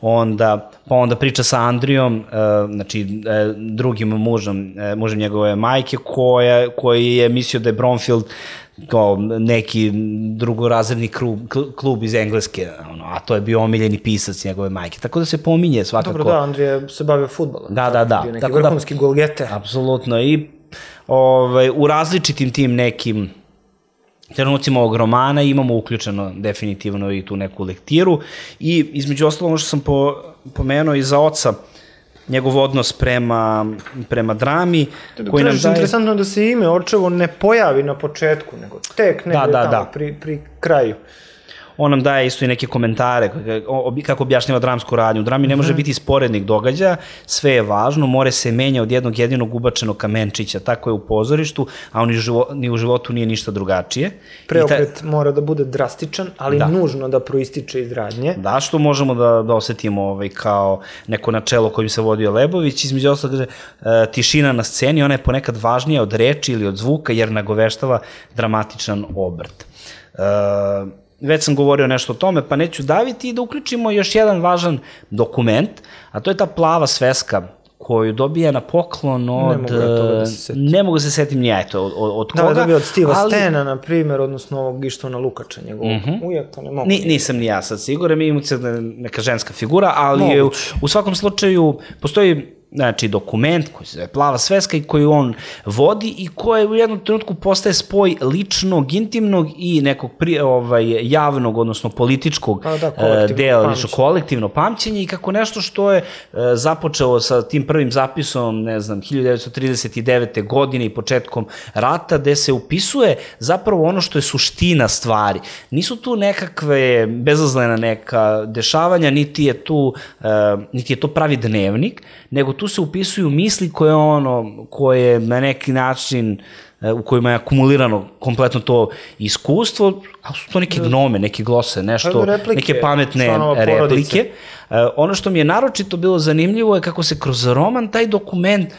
onda, pa onda priča sa Andrijom, uh, znači uh, drugim mužem, uh, mužem njegove majke, koja, koji je mislio da je Bromfield kao neki drugorazredni klub, klub iz Engleske, ono, a to je bio omiljeni pisac njegove majke. Tako da se pominje svakako. Dobro, da, Andrija se bavio fudbalom. Da, da, da. Bio neki vrhunski golgete. Apsolutno. I ovaj, u različitim tim nekim trenucima ovog romana imamo uključeno definitivno i tu neku lektiru i između ostalo ono što sam po, pomenuo i za oca, njegov odnos prema, prema drami. Koji nam daje... Interesantno da se ime očevo ne pojavi na početku, nego tek negdje da, da, tamo da. Pri, pri kraju. On nam daje isto i neke komentare kako objašnjava dramsku radnju. U drami ne može biti sporednih događaja, sve je važno, more se menja od jednog jedinog ubačenog kamenčića, tako je u pozorištu, a on ni u životu nije ništa drugačije. Preokret ta... mora da bude drastičan, ali da. nužno da proističe iz radnje. Da, što možemo da, da osetimo ovaj, kao neko načelo kojim se vodio Lebović. Između ostalog, kaže, e, tišina na sceni, ona je ponekad važnija od reči ili od zvuka, jer nagoveštava dramatičan obrt. E, Već sam govorio nešto o tome, pa neću daviti i da uključimo još jedan važan dokument, a to je ta plava sveska koju dobija na poklon od... Ne mogu ja toga da se setim. Ne mogu se setim ni ja, eto, od, od koga. Da, dobija od Steva ali... Stena, na primjer, odnosno ovog Ištvana Lukača, njegovog mm-hmm. ujaka, ne mogu. Ni, nisam ni ja sad siguran, mi imamo neka ženska figura, ali u, u svakom slučaju postoji znači dokument koji se zove Plava sveska i koju on vodi i koji u jednom trenutku postaje spoj ličnog, intimnog i nekog pri, ovaj, javnog, odnosno političkog pa da, dela, lično kolektivno pamćenje i kako nešto što je uh, započeo sa tim prvim zapisom, ne znam, hiljadu devetsto trideset devete. godine i početkom rata, gde se upisuje zapravo ono što je suština stvari. Nisu tu nekakve bezazlena neka dešavanja, niti je tu, uh, niti je to pravi dnevnik, nego tu se upisuju misli koje ono, koje na neki način u kojima je akumulirano kompletno to iskustvo, ali su to neke gnome, neke glose, nešto, replike, neke pametne replike, ono što mi je naročito bilo zanimljivo je kako se kroz roman taj dokument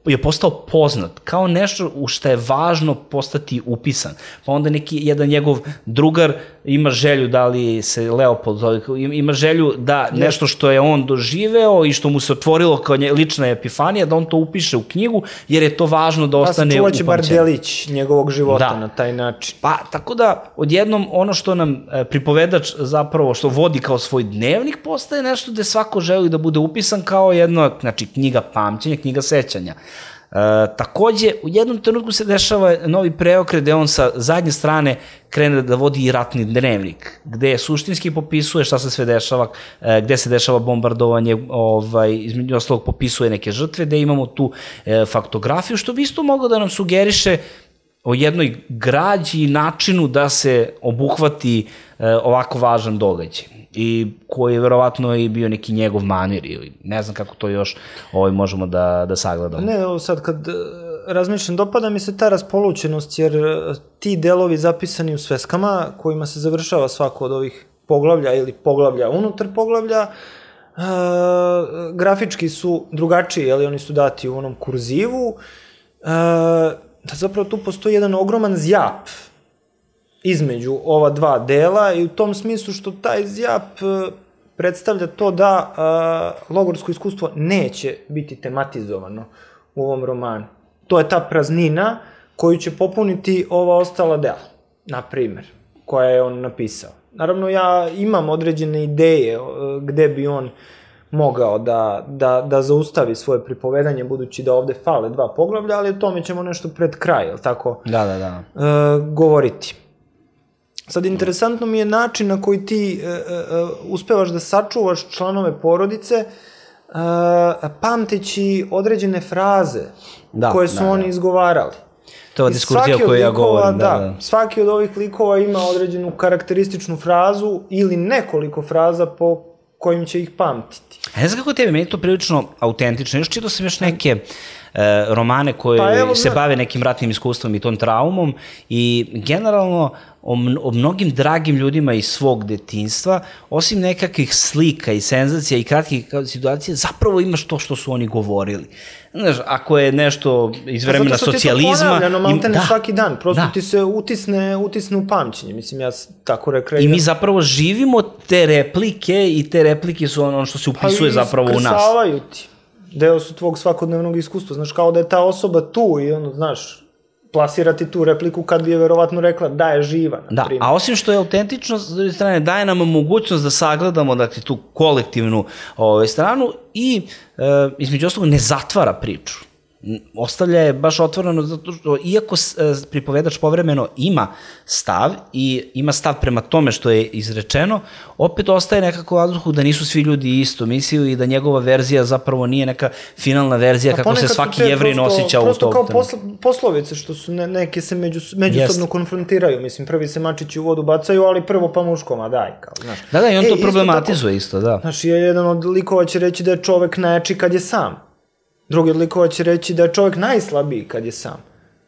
je postao poznat, kao nešto u što je važno postati upisan. Pa onda neki jedan njegov drugar ima želju, da li se Leopold zove, ima želju da nešto što je on doživeo i što mu se otvorilo kao lična epifanija, da on to upiše u knjigu, jer je to važno da ostane upamćeno. Pa se čuvat će bar delić njegovog života na taj način. Pa, tako da, odjednom, ono što nam pripovedač zapravo, što vodi kao svoj dnevnik, postaje nešto gde svako želi da bude upisan kao jedna, znači, knjiga pamćenja, knjiga sećanja. E, takođe, u jednom trenutku se dešava novi preokret gde on sa zadnje strane krene da vodi i ratni dnevnik, gde suštinski popisuje šta se sve dešava, e, gde se dešava bombardovanje, ovaj, između ostalog popisuje neke žrtve, gde imamo tu e, faktografiju, što bi isto moglo da nam sugeriše o jednoj građi i načinu da se obuhvati e, ovako važan događaj, i koji je verovatno i bio neki njegov manir, ili ne znam kako to još ovaj, možemo da, da sagledamo. Ne, ovo sad kad razmišljam, dopada mi se ta raspolućenost, jer ti delovi zapisani u sveskama, kojima se završava svako od ovih poglavlja ili poglavlja unutar poglavlja, uh, grafički su drugačiji, jeli, oni su dati u onom kurzivu, uh, da zapravo tu postoji jedan ogroman zjap između ova dva dela, i u tom smislu što taj zjap predstavlja to da uh, logorsko iskustvo neće biti tematizovano u ovom romanu. To je ta praznina koju će popuniti ova ostala dela, na primer, koja je on napisao. Naravno, ja imam određene ideje uh, gde bi on mogao da, da, da zaustavi svoje pripovedanje, budući da ovde fale dva poglavlja, ali o tome ćemo nešto pred kraj, jel tako, da, da, da. Uh, govoriti. Sad, interesantno mi je način na koji ti uh, uh, uspevaš da sačuvaš članove porodice, uh, pamteći određene fraze da, koje su da, oni da. izgovarali. To je diskurzija o kojoj ja govorim. Da, da, svaki od ovih likova ima određenu karakterističnu frazu ili nekoliko fraza po kojim će ih pamtiti. A ne znam kako tebi, meni je to prilično autentično. Još čitao sam još neke e, romane koje pa evo, se bave nekim ratnim iskustvom i tom traumom, i generalno o, o mnogim dragim ljudima iz svog detinjstva, osim nekakvih slika i senzacija i kratkih situacija, zapravo imaš to što su oni govorili. Znaš, ako je nešto iz vremena socijalizma... Zato što ti to ponavljano, maltene da, svaki dan, prosto da. ti se utisne, utisne u pamćenje, mislim, ja tako rekao. I mi zapravo živimo te replike, i te replike su ono što se upisuje pa zapravo u nas. Pa iskrsavaju ti, deo su tvog svakodnevnog iskustva, znaš, kao da je ta osoba tu i ono, znaš, plasirati tu repliku kad bi je verovatno rekla da je živa, na da, primjer. A osim što je autentično, s druge strane, daje nam mogućnost da sagledamo, dakle, tu kolektivnu ovaj, stranu, i e, između ostalog ne zatvara priču. Ostavlja je baš otvoreno, zato što iako pripovedač povremeno ima stav i ima stav prema tome što je izrečeno, opet ostaje nekako u vazduhu da nisu svi ljudi isto mislili i da njegova verzija zapravo nije neka finalna verzija kako se svaki Jevrin osjeća u tom. Prosto kao posl poslovice što su ne, neke se među, međusobno yes. konfrontiraju, mislim, prvi se mačići u vodu bacaju, ali prvo pa muškoma, daj, kao, znaš. Da, da, i on e, to problematizuje isto, isto, da. Znaš, jedan od likova će reći da je čovek najjači kad je sam. Drugi od likova će reći da je čovjek najslabiji kad je sam.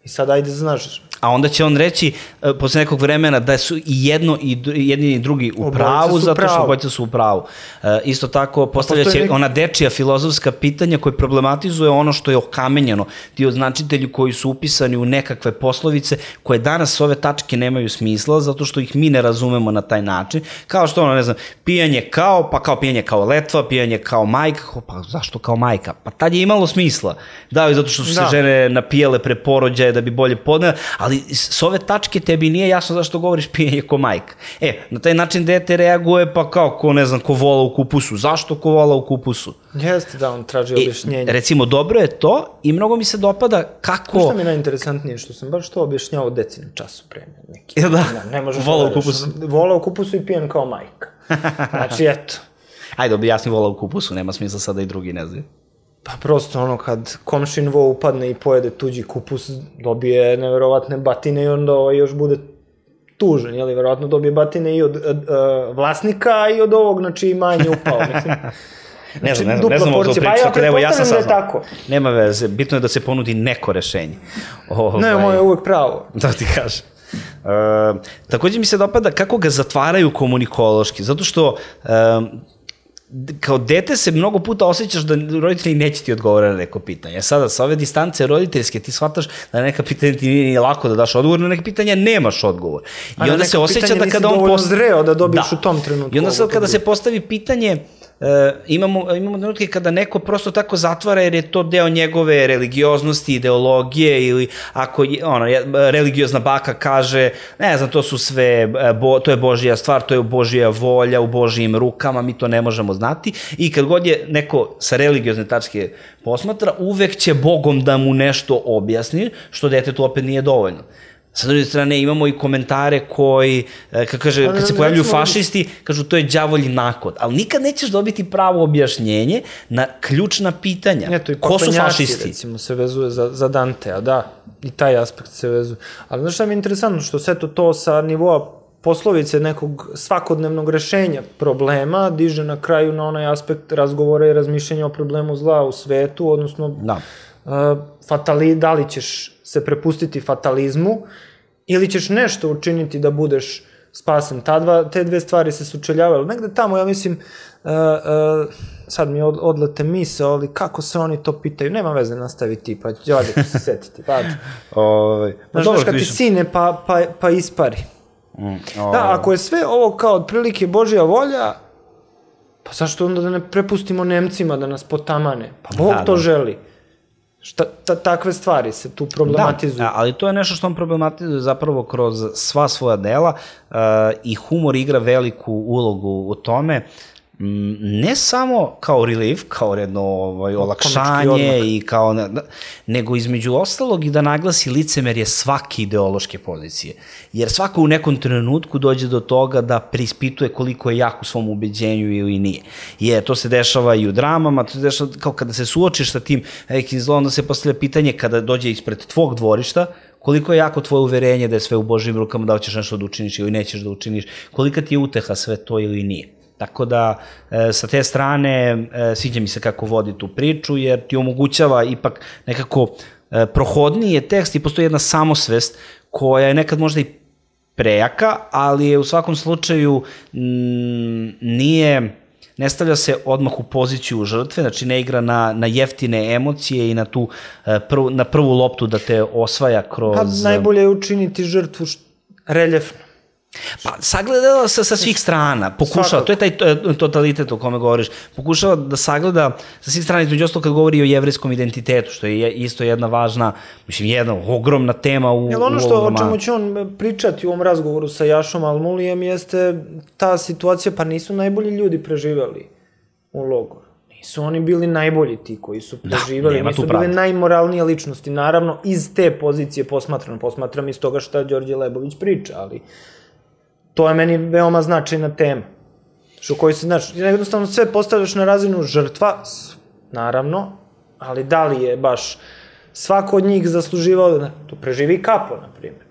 I sad ajde znaš. A onda će on reći posle nekog vremena da su i jedno i jedni i drugi u pravu, zato što obojica su u pravu. E, isto tako postavlja će ona dečija filozofska pitanja koje problematizuje ono što je okamenjeno. Ti označitelji koji su upisani u nekakve poslovice koje danas ove tačke nemaju smisla zato što ih mi ne razumemo na taj način. Kao što ono, ne znam, pijanje kao, pa kao pijanje kao letva, pijanje kao majka, pa zašto kao majka? Pa tad je imalo smisla. Da, i zato što su da. se žene napijale pre porođaja da bi bolje podnele, ali s ove tačke tebi nije jasno zašto govoriš pijenje ko majka. E, na taj način dete reaguje pa kao ko, ne znam, ko vola u kupusu. Zašto ko vola u kupusu? Jeste da on traži objašnjenje. E, recimo, dobro je to i mnogo mi se dopada kako... Što mi je najinteresantnije, što sam baš to objašnjao deci na času premija neki. Ja, da, ne, ne vola u kupusu. Vola u kupusu i pijen kao majka. Znači, eto. Ajde, objasni vola u kupusu, nema smisla sada i drugi ne znaju. Pa prosto ono kad komšin vo upadne i pojede tuđi kupus, dobije neverovatne batine i onda ovaj još bude tužen, jeli, verovatno dobije batine i od, od, od vlasnika i od ovog na čiji manje upao, mislim. Ne znam, ne znam, ne znam ovo to priču, tako da evo ja sam saznao. Nema veze, bitno je da se ponudi neko rešenje. Ne, moje je uvek pravo. Da ti kažem. Uh, takođe mi se dopada kako ga zatvaraju komunikološki, zato što uh, kao dete se mnogo puta osjećaš da roditelji neće ti odgovoriti na neko pitanje. Sada, sa ove distance roditeljske ti shvataš da na neka pitanja ti nije lako da daš odgovor, na neka pitanja nemaš odgovor. I onda se osjeća da kada on dovoljno zreo da dobiješ u tom trenutku. I onda sad kada se postavi pitanje, Uh, imamo, imamo trenutke kada neko prosto tako zatvara jer je to deo njegove religioznosti, ideologije ili ako je, ono, religiozna baka kaže, ne znam, to su sve, bo, to je Božja stvar, to je Božja volja u Božjim rukama, mi to ne možemo znati i kad god je neko sa religiozne tačke posmatra, uvek će Bogom da mu nešto objasni, što detetu opet nije dovoljno. Sa druge strane imamo i komentare koji, kad, kaže, kad se pojavljuju fašisti, kažu to je đavolji nakod, ali nikad nećeš dobiti pravo objašnjenje na ključna pitanja. Eto, i ko su fašisti? Recimo, se vezuje za, za Dantea, da, i taj aspekt se vezuje. Ali znaš šta mi je interesantno, što sve to, to sa nivoa poslovice nekog svakodnevnog rešenja problema diže na kraju na onaj aspekt razgovora i razmišljenja o problemu zla u svetu, odnosno da. Uh, fatali, da li ćeš se prepustiti fatalizmu ili ćeš nešto učiniti da budeš spasen. Ta dva, te dve stvari se sučeljavaju. Negde tamo, ja mislim, uh, uh, sad mi od, odlete misle, ali kako se oni to pitaju, nema veze nastaviti, pa ću ću se setiti. Pa, Ove, znaš, znaš kad ti sine pa, pa, pa ispari. Mm, da, ako je sve ovo kao otprilike Božja volja, pa zašto onda da ne prepustimo Nemcima da nas potamane? Pa Bog da, to da. želi. Šta, ta, takve stvari se tu problematizuju. Da, ali to je nešto što on problematizuje zapravo kroz sva svoja dela uh, i humor igra veliku ulogu u tome, ne samo kao relief, kao jedno ovaj, olakšanje i kao, ne, nego između ostalog i da naglasi licemerje svake ideološke pozicije. Jer svako u nekom trenutku dođe do toga da preispituje koliko je jak u svom ubeđenju ili nije. Jer to se dešava i u dramama, to se dešava kao kada se suočiš sa tim velikim zlom, onda se postavlja pitanje kada dođe ispred tvog dvorišta, koliko je jako tvoje uverenje da je sve u Božjim rukama, da hoćeš nešto da učiniš ili nećeš da učiniš, kolika ti je uteha sve to ili nije. Tako da, e, sa te strane, e, sviđa mi se kako vodi tu priču, jer ti omogućava ipak nekako e, prohodniji je tekst i postoji jedna samosvest koja je nekad možda i prejaka, ali je u svakom slučaju m, nije, ne stavlja se odmah u poziciju žrtve, znači ne igra na, na jeftine emocije i na, tu, e, prv, na prvu loptu da te osvaja kroz... Pa najbolje je učiniti žrtvu reljefno. Pa, sagledala se sa svih strana, pokušava, Svakako. to je taj totalitet o kome govoriš, pokušava da sagleda sa svih strana, između ostalo kad govori o jevrijskom identitetu, što je isto jedna važna, mislim, jedna ogromna tema u, Jel ono što, u ovom romanu. O čemu će on pričati u ovom razgovoru sa Jašom Almulijem jeste ta situacija, pa nisu najbolji ljudi preživali u logoru. Nisu oni bili najbolji ti koji su preživali, da, nisu bile najmoralnije ličnosti, naravno iz te pozicije posmatram, posmatram iz toga šta Đorđe Lebović priča, ali to je meni veoma značajna tema. Što koji se, znači, jednostavno sve postavljaš na razinu žrtva, naravno, ali da li je baš svako od njih zasluživao da to preživi Kapo, na primjer.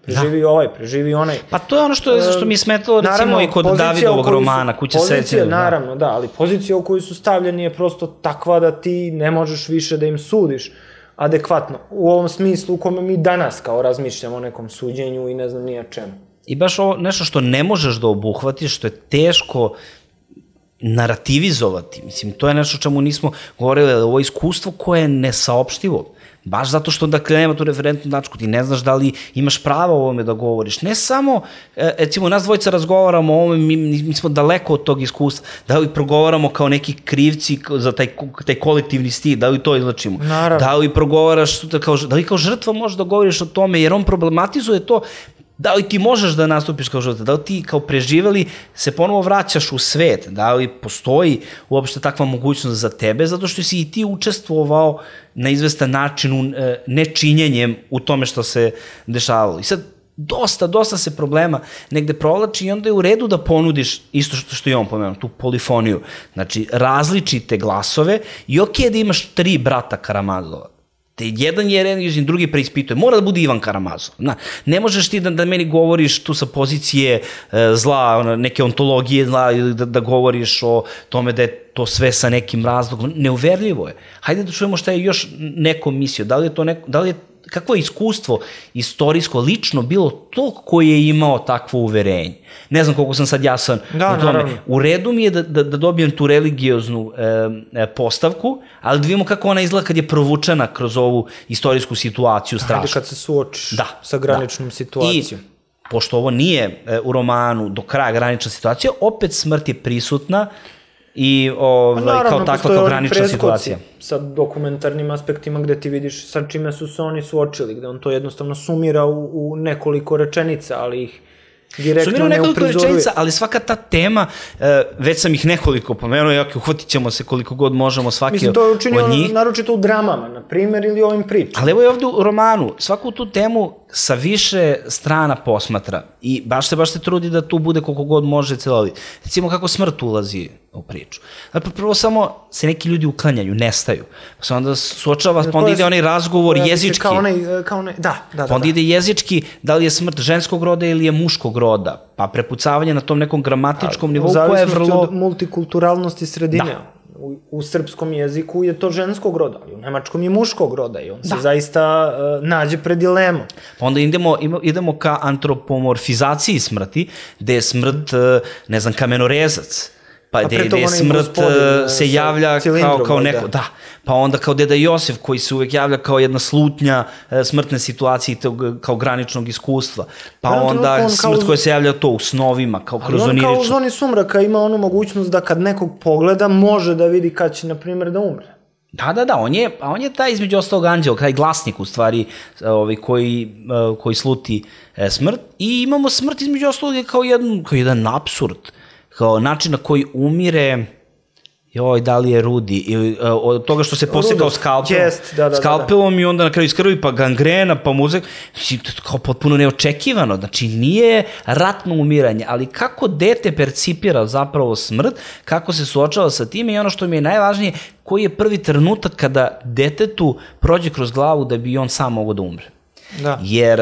Preživi da. ovaj, preživi onaj. Pa to je ono što, što mi je smetalo, recimo, naravno, i kod Davidovog romana, Kuća sećanja. Naravno, da, ali pozicija u koju su stavljeni je prosto takva da ti ne možeš više da im sudiš adekvatno. U ovom smislu u kome mi danas kao razmišljamo o nekom suđenju i ne znam nija čemu. I baš ovo nešto što ne možeš da obuhvatiš, što je teško narativizovati. Mislim, to je nešto o čemu nismo govorili, ali ovo je iskustvo koje je nesaopštivo. Baš zato što da nema tu referentnu tačku, ti ne znaš da li imaš pravo o ovome da govoriš. Ne samo, recimo, nas dvojica razgovaramo o ovome, mi, mi smo daleko od tog iskustva, da li progovaramo kao neki krivci za taj, taj kolektivni stil, da li to izlačimo. Naravno. Da li progovaraš, kao, da li kao žrtva možeš da govoriš o tome, jer on problematizuje to. Da li ti možeš da nastupiš kao žrtva, da li ti kao preživeli se ponovo vraćaš u svet, da li postoji uopšte takva mogućnost za tebe, zato što si i ti učestvovao na izvestan način nečinjenjem u tome što se dešavalo. I sad dosta, dosta se problema negde provlači i onda je u redu da ponudiš isto što, što je on pomenuo, tu polifoniju, znači različite glasove i ok da imaš tri brata Karamazova. Te jedan je religiozan, drugi preispituje. Mora da bude Ivan Karamazov. Na, ne možeš ti da, da meni govoriš tu sa pozicije e, zla, ona, neke ontologije zla, ili da, da govoriš o tome da je to sve sa nekim razlogom, neuverljivo je. Hajde da čujemo šta je još neko mislio, da li je to neko, da li je, kakvo je iskustvo istorijsko, lično bilo to koji je imao takvo uverenje. Ne znam koliko sam sad jasan da, u tome. Naravno. U redu mi je da, da, da dobijem tu religioznu e, postavku, ali da vidimo kako ona izgleda kad je provučena kroz ovu istorijsku situaciju strašno. Hajde kad se suočiš da, sa graničnom da. situacijom. I, pošto ovo nije e, u romanu do kraja granična situacija, opet smrt je prisutna i ovaj, naravno, kao takva kao granična situacija. Sa dokumentarnim aspektima gde ti vidiš sa čime su se oni suočili, gde on to jednostavno sumira u, u nekoliko rečenica, ali ih direktno ne uprizoruje. Nekoliko rečenica, ali svaka ta tema, već sam ih nekoliko pomenuo, jak uhvatit ćemo se koliko god možemo svaki od njih. Mislim, to je učinio naročito u dramama, na primer, ili ovim pričama. Ali evo je ovde u romanu, svaku tu temu sa više strana posmatra i baš se, baš se trudi da tu bude koliko god može celovit. Recimo kako smrt ulazi u priču. Dakle, prvo samo se neki ljudi uklanjaju, nestaju. Pa se onda suočava, pa onda ide onaj razgovor jezički. Kao onaj, kao onaj, da, da, da. Pa onda ide jezički, da li je smrt ženskog roda ili je muškog roda. Pa prepucavanje na tom nekom gramatičkom nivou koje je vrlo... U zavisnosti od multikulturalnosti sredine. U, u srpskom jeziku je to ženskog roda, ali u nemačkom je muškog roda i on se zaista uh, nađe pred dilemom. Pa onda idemo, idemo ka antropomorfizaciji smrti, gde je smrt, ne znam, kamenorezac. Pa gde je smrt se javlja kao, kao neko, da. Pa onda kao deda Josif koji se uvek javlja kao jedna slutnja smrtne situacije tog, kao graničnog iskustva. Pa onda smrt koja se javlja to u snovima, kao kroz onirično. Ali on kao u zoni sumraka ima onu mogućnost da kad nekog pogleda može da vidi kad će, na primjer, da umre. Da, da, da, on je, a on je taj između ostalog anđeo, taj glasnik u stvari ovaj, koji, koji sluti smrt. I imamo smrt između ostalog kao jedan, kao jedan apsurd. Kao način na koji umire, joj, da li je Rudi, ili od toga što se posekao skalpelom, yes, da, da, skalpelom da, da. I onda na kraju iskrvi, pa gangrena, pa muzek, kao potpuno neočekivano, znači nije ratno umiranje, ali kako dete percipira zapravo smrt, kako se suočava sa time i ono što mi je najvažnije, koji je prvi trenutak kada detetu prođe kroz glavu da bi on sam mogao da umre. Da. Jer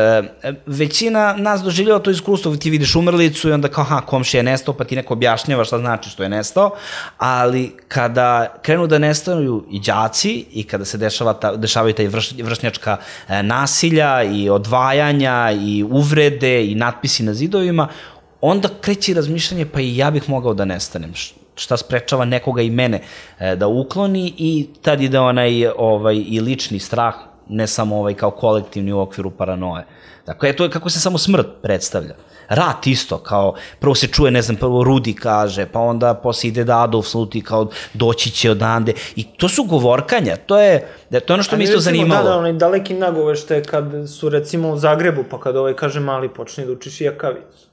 većina nas doživljava to iskustvo, ti vidiš umrlicu i onda kao, ha, komšija je nestao, pa ti neko objašnjava šta znači što je nestao, ali kada krenu da nestaju i đaci i kada se dešava ta, dešavaju taj vrš, vršnjačka nasilja i odvajanja i uvrede i natpisi na zidovima, onda kreće razmišljanje, pa i ja bih mogao da nestanem, šta sprečava nekoga i mene da ukloni i tad ide onaj ovaj, i lični strah, ne samo ovaj kao kolektivni u okviru paranoje. Dakle, to je kako se samo smrt predstavlja. Rat isto, kao, prvo se čuje, ne znam, prvo Rudi kaže, pa onda posle ide da Adolf sluti kao doći će odande. I to su govorkanja, to je, to je ono što mi isto zanimalo. Da, da, onaj daleki nagovešte kad su recimo u Zagrebu, pa kad ovaj kaže mali počni da učiš jakavicu.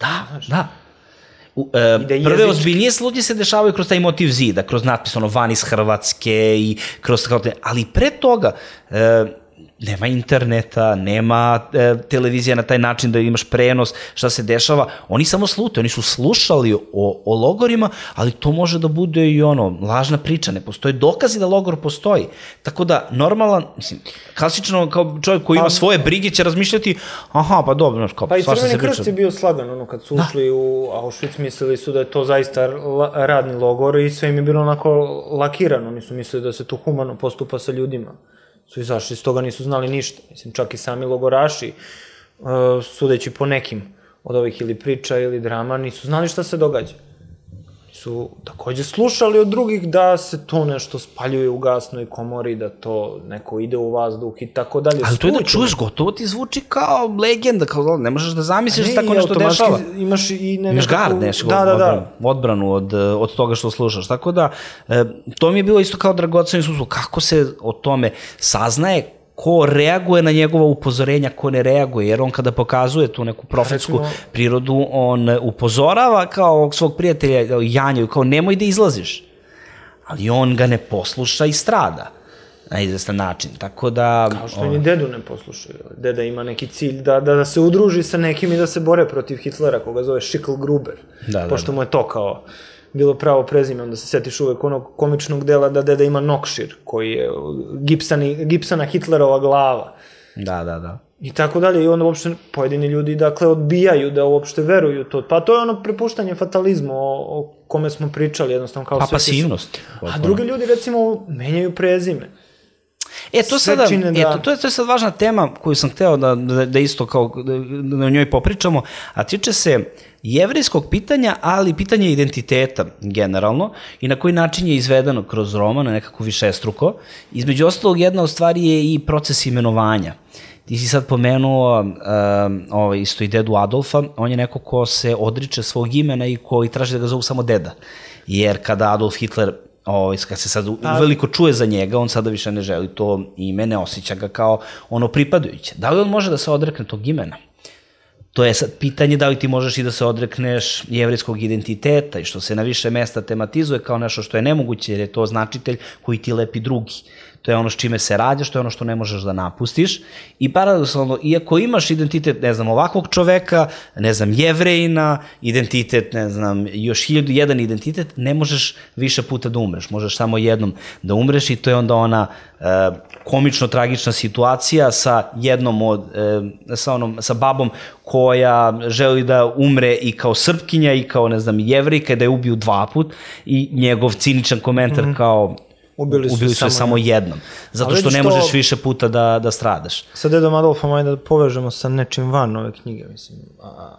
Da, da. U, e, prve ozbiljnije slutnje se dešavaju kroz taj motiv zida, kroz natpis ono van iz Hrvatske i kroz kao te, ali pre toga e, nema interneta, nema e, televizija na taj način da imaš prenos, šta se dešava, oni samo slute, oni su slušali o, o logorima, ali to može da bude i ono, lažna priča, ne postoje dokazi da logor postoji, tako da normalan, mislim, klasično kao čovjek koji ima pa, svoje brige će razmišljati, aha, pa dobro, kao, pa i Crveni krst je bio slagan, ono, kad su da. ušli u Auschwitz, mislili su da je to zaista la, radni logor i sve im je bilo onako lakirano, oni su mislili da se tu humano postupa sa ljudima. Su izašli, iz toga nisu znali ništa. Mislim, čak i sami logoraši, uh, sudeći po nekim od ovih ili priča ili drama, nisu znali šta se događa. Su takođe slušali od drugih da se to nešto spaljuje u gasnoj komori, da to neko ide u vazduh i tako dalje. Ali to je da čuješ, gotovo ti zvuči kao legenda, kao ne možeš da zamisliš da tako nešto dešava. Imaš i ne imaš gard, nešto, da, da, da. odbranu od, od toga što slušaš. Tako da, to mi je bilo isto kao dragoceno iskustvo, kako se o tome saznaje, ko reaguje na njegova upozorenja, ko ne reaguje, jer on kada pokazuje tu neku profetsku Recimo, prirodu, on upozorava kao svog prijatelja Janju, kao nemoj da izlaziš, ali on ga ne posluša i strada na izvestan način, tako da... Kao što on... ni dedu ne poslušaju, deda ima neki cilj da, da, da se udruži sa nekim i da se bore protiv Hitlera, koga zove Schicklgruber, da, pošto da, da. mu je to kao... bilo pravo prezime, onda se setiš uvek onog komičnog dela da deda ima Nokšir, koji je Gibsoni, Gibsona Hitlerova glava. Da, da, da. i tako dalje, i onda uopšte pojedini ljudi, dakle, odbijaju da uopšte veruju to. Pa to je ono prepuštanje fatalizmu o, o kome smo pričali, jednostavno kao pa sve... pasivnost. A drugi ljudi, recimo, menjaju prezime. E, to, sada, da... e, to, to, je, to je sad važna tema koju sam hteo da, da, da isto kao, da, da o njoj popričamo, a tiče se jevrejskog pitanja, ali pitanja identiteta generalno i na koji način je izvedeno kroz roman, nekako višestruko. Između ostalog, jedna od stvari je i proces imenovanja. Ti si sad pomenuo uh, ovaj, isto i dedu Adolfa, on je neko ko se odriče svog imena i koji traži da ga zovu samo deda. Jer kada Adolf Hitler, ovaj, kad se sad uveliko čuje za njega, on sada više ne želi to ime, ne osjeća ga kao ono pripadajuće. Da li on može da se odrekne tog imena? To je sad pitanje da li ti možeš i da se odrekneš jevrejskog identiteta i što se na više mesta tematizuje kao nešto što je nemoguće jer je to značitelj koji ti lepi drugi. To je ono s čime se rađaš, to je ono što ne možeš da napustiš i paradoksalno, iako imaš identitet, ne znam, ovakvog čoveka, ne znam, Jevrejina, identitet, ne znam, još hiljadu jedan identitet, ne možeš više puta da umreš, možeš samo jednom da umreš i to je onda ona e, komično tragična situacija sa jednom od, e, sa onom, sa babom koja želi da umre i kao Srpkinja i kao, ne znam, Jevrejka, da je ubiju dva put i njegov ciničan komentar mm-hmm. kao ubili su, ubili su samo, samo jednom. Zato što ne možeš više puta da, da stradaš. Sa dedom Adolfom, ajde da povežemo sa nečim van ove knjige, mislim.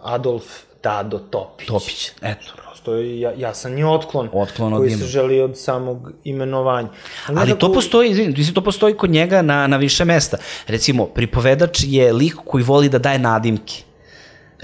Adolf Dado Topić. Topić, eto. Prosto je ja, jasan je otklon, otklon koji se želi od samog imenovanja. Ali, Ali nekako... to postoji, izvini, to postoji kod njega na, na više mesta. Recimo, pripovedač je lik koji voli da daje nadimke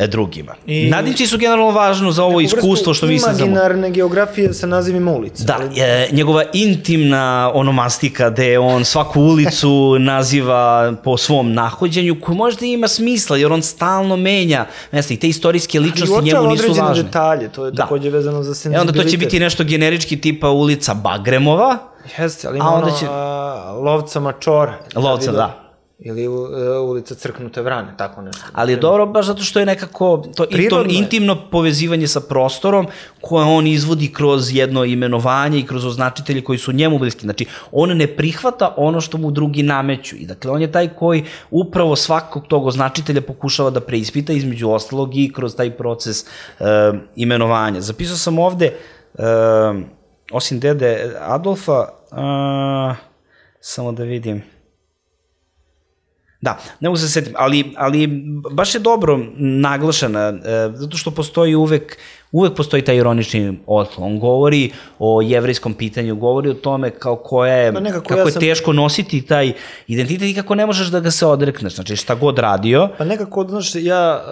drugima. I... Nadimci su generalno važno za ovo iskustvo što mi se znamo. Imaginarne geografije sa nazivima ulica. Da, je, njegova intimna onomastika gde on svaku ulicu naziva po svom nahođenju koji možda ima smisla jer on stalno menja mesta i te istorijske ličnosti njemu nisu važne. Ali detalje, to je da. Takođe vezano za senzibilitet. E onda to će biti nešto generički tipa ulica Bagremova. Jeste, ali ima ono će... a, lovca Mačora. Lovca, da. Ili uh, ulica Crknute Vrane, tako nešto. Ali je dobro baš zato što je nekako to, to intimno povezivanje sa prostorom koje on izvodi kroz jedno imenovanje i kroz označitelje koji su njemu bliski. Znači, on ne prihvata ono što mu drugi nameću. I dakle, on je taj koji upravo svakog tog označitelja pokušava da preispita između ostalog i kroz taj proces uh, imenovanja. Zapisao sam ovde, uh, osim dede Adolfa, uh, samo da vidim... Da, ne mogu se setim, ali, ali baš je dobro naglašena, e, zato što postoji uvek, uvek postoji taj ironični otklon. On govori o jevrejskom pitanju, govori o tome kao koja je, kako ja je sam... teško nositi taj identitet i kako ne možeš da ga se odrekneš, znači šta god radio. Pa nekako, znaš, ja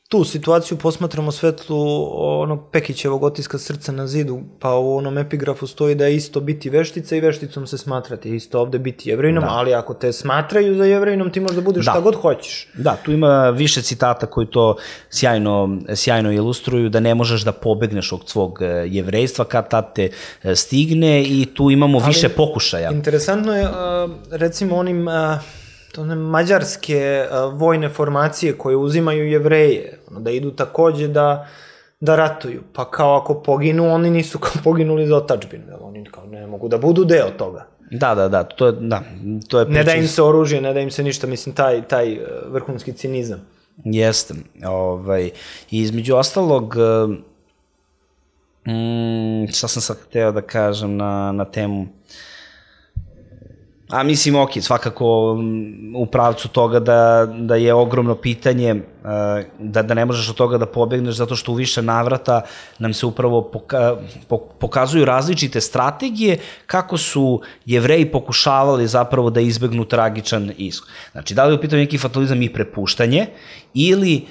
tu situaciju posmatram u svetlu onog Pekićevog otiska Srca na zidu, pa u onom epigrafu stoji da je isto biti veštica i vešticom se smatrati, isto ovde biti jevrejinom, da. Ali ako te smatraju za jevrejinom, ti možda budeš da. Šta god hoćeš. Da, tu ima više citata koji to sjajno, sjajno ilustruju, da ne možeš da pobegneš od svog jevrejstva kad tad te stigne i tu imamo ali više pokušaja. Interesantno je, recimo, onim... to one mađarske uh, vojne formacije koje uzimaju Jevreje, da idu takođe da, da ratuju. Pa kao ako poginu, oni nisu kao poginuli za otadžbinu, oni kao ne mogu da budu deo toga. Da, da, da, to je, da, to je ne da im se oružje, ne da im se ništa, mislim, taj, taj vrhunski cinizam. Jeste, ovaj, između ostalog, mm, šta sam sad hteo da kažem na, na temu... A mislim, ok, svakako u pravcu toga da, da je ogromno pitanje, da, da ne možeš od toga da pobegneš zato što u više navrata nam se upravo poka, pokazuju različite strategije kako su Jevreji pokušavali zapravo da izbegnu tragičan ishod. Znači, da li je u pitanju neki fatalizam i prepuštanje ili e,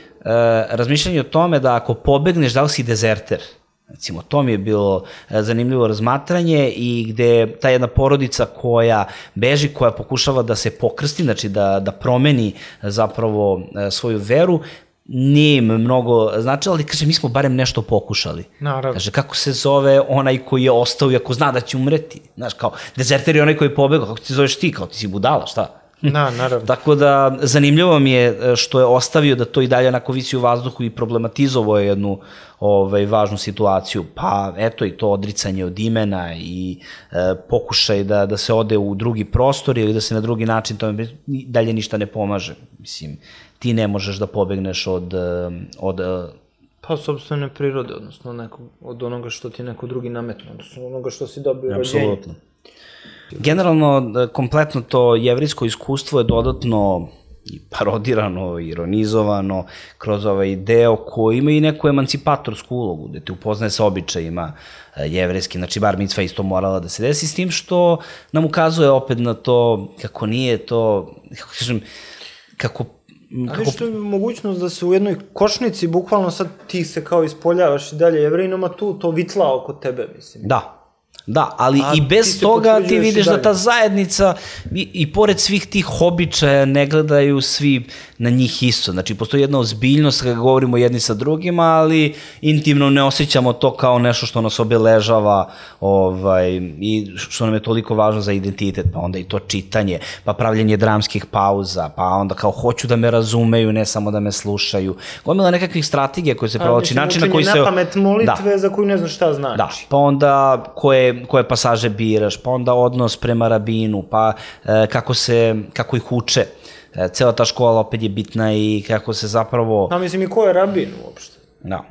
razmišljanje o tome da ako pobegneš, da li si dezerter? Recimo, to mi je bilo zanimljivo razmatranje i gde ta jedna porodica koja beži, koja pokušava da se pokrsti, znači da, da promeni zapravo svoju veru, nije im mnogo značilo, ali kaže, mi smo barem nešto pokušali. Naravno. Kaže, kako se zove onaj koji je ostao i ako zna da će umreti? Znaš, kao, dezerter je onaj koji je pobegao, kako ti zoveš ti, kao ti si budala, šta? Da, naravno. Tako da, zanimljivo mi je što je ostavio da to i dalje onako visi u vazduhu i problematizovao je jednu ovaj, važnu situaciju. Pa, eto i to odricanje od imena i e, pokušaj da, da se ode u drugi prostor ili da se na drugi način tome dalje ništa ne pomaže. Mislim, ti ne možeš da pobegneš od... od pa, sobstvene prirode, odnosno nekog, od onoga što ti neko drugi nametno, odnosno onoga što si dobio rođenje. Apsolutno. Generalno, kompletno to jevrijsko iskustvo je dodatno i parodirano, ironizovano kroz ovaj deo koji ima i neku emancipatorsku ulogu, gde te upoznaje sa običajima jevrijski, znači bar micva isto morala da se desi, s tim što nam ukazuje opet na to kako nije to, kako kažem, kako... Ali što je mogućnost da se u jednoj košnici, bukvalno sad ti se kao ispoljavaš i dalje jevrijinoma, tu to vitla oko tebe, mislim. Da. Da, ali i bez toga ti vidiš da ta zajednica i pored svih tih običaja ne gledaju svi na njih isto. Znači, postoji jedna ozbiljnost kada govorimo jedni sa drugima, ali intimno ne osjećamo to kao nešto što nas obeležava i što nam je toliko važno za identitet. Pa onda i to čitanje, pa pravljenje dramskih pauza, pa onda kao hoću da me razumeju, ne samo da me slušaju. Gomila nekakvih strategija koje se provlači, načina koji se... Učenje na pamet molitve za koju ne znaš šta znači. Da, pa onda koje koje pasaže biraš, pa onda odnos prema rabinu, pa e, kako se, kako ih uče. E, cela ta škola opet je bitna i kako se zapravo... A mislim i ko je rabin uopšte? Da.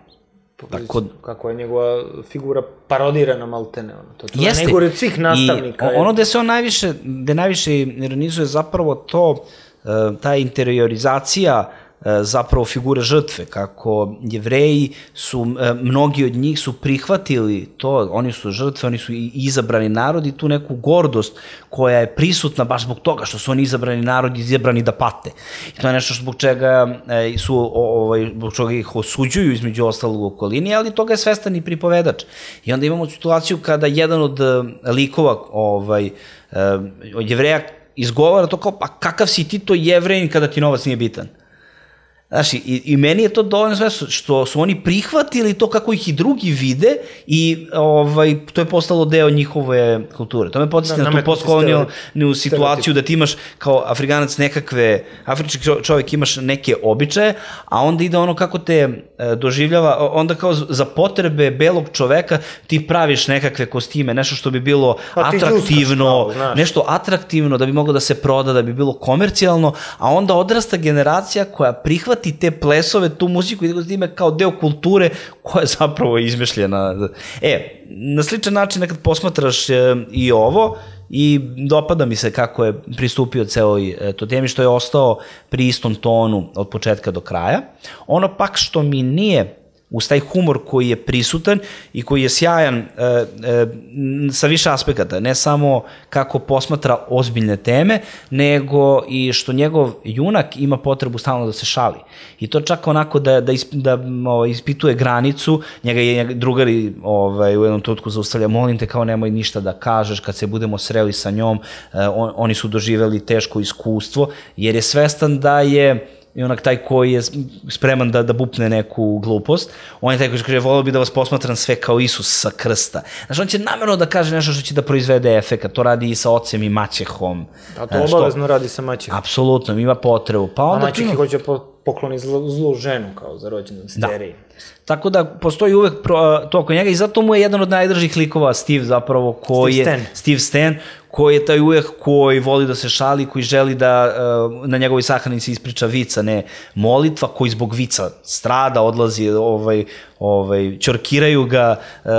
Tako... Kako je njegova figura parodirana maltene. Ono. To je najgore od svih nastavnika. I ono gde se on najviše, gde najviše ironizuje zapravo to, e, ta interiorizacija zapravo figure žrtve, kako Jevreji su, mnogi od njih su prihvatili to, oni su žrtve, oni su izabrani narod i tu neku gordost koja je prisutna baš zbog toga što su oni izabrani narod i izabrani da pate. I to je nešto zbog čega su, ovaj, zbog čega ih osuđuju između ostalog u okolini, ali toga je svestan i pripovedač. I onda imamo situaciju kada jedan od likova ovaj, od Jevreja izgovara to kao, pa kakav si ti to Jevrejin kada ti novac nije bitan? Znaš, i, i meni je to dovoljno sve što su oni prihvatili to kako ih i drugi vide i ovaj, to je postalo deo njihove kulture. To me podsjeti na tu postkolonijalnu situaciju da ti imaš kao Afrikanac nekakve, afrički čovjek imaš neke običaje, a onda ide ono kako te e, doživljava, onda kao za potrebe belog čoveka ti praviš nekakve kostime, nešto što bi bilo pa atraktivno, nešto atraktivno da bi moglo da se proda, da bi bilo komercijalno, a onda odrasta generacija koja prihvata ti te plesove, tu muziku i da ime kao deo kulture koja je zapravo izmišljena. E, na sličan način nekad posmatraš i ovo i dopada mi se kako je pristupio celoj to temi, što je ostao pri istom tonu od početka do kraja. Ono pak što mi nije uz taj humor koji je prisutan i koji je sjajan e, e, sa više aspekata, ne samo kako posmatra ozbiljne teme, nego i što njegov junak ima potrebu stalno da se šali. I to čak onako da, da, isp, da o, ispituje granicu, njega je drugari ovaj, u jednom trenutku zaustavlja, molim te kao nemoj ništa da kažeš, kad se budemo sreli sa njom, e, on, oni su doživeli teško iskustvo, jer je svestan da je i onak taj koji je spreman da, da bupne neku glupost, on je taj koji kaže, volio bi da vas posmatram sve kao Isus sa krsta. Znači, on će namjerno da kaže nešto što će da proizvede efekat, to radi i sa ocem i maćehom. A to obavezno radi sa maćehom. Apsolutno, ima potrebu. Pa onda a maćehi hoće pokloni zlu, zlu ženu kao za rođendan steriji. Da. Tako da postoji uvek to oko njega i zato mu je jedan od najdržih likova Steve zapravo, koji Steve je Steve Stan, koji je taj uvek koji voli da se šali, koji želi da na njegovoj sahranici ispriča vica, ne molitva, koji zbog vica strada, odlazi, ovaj, ovaj, čorkiraju ga uh,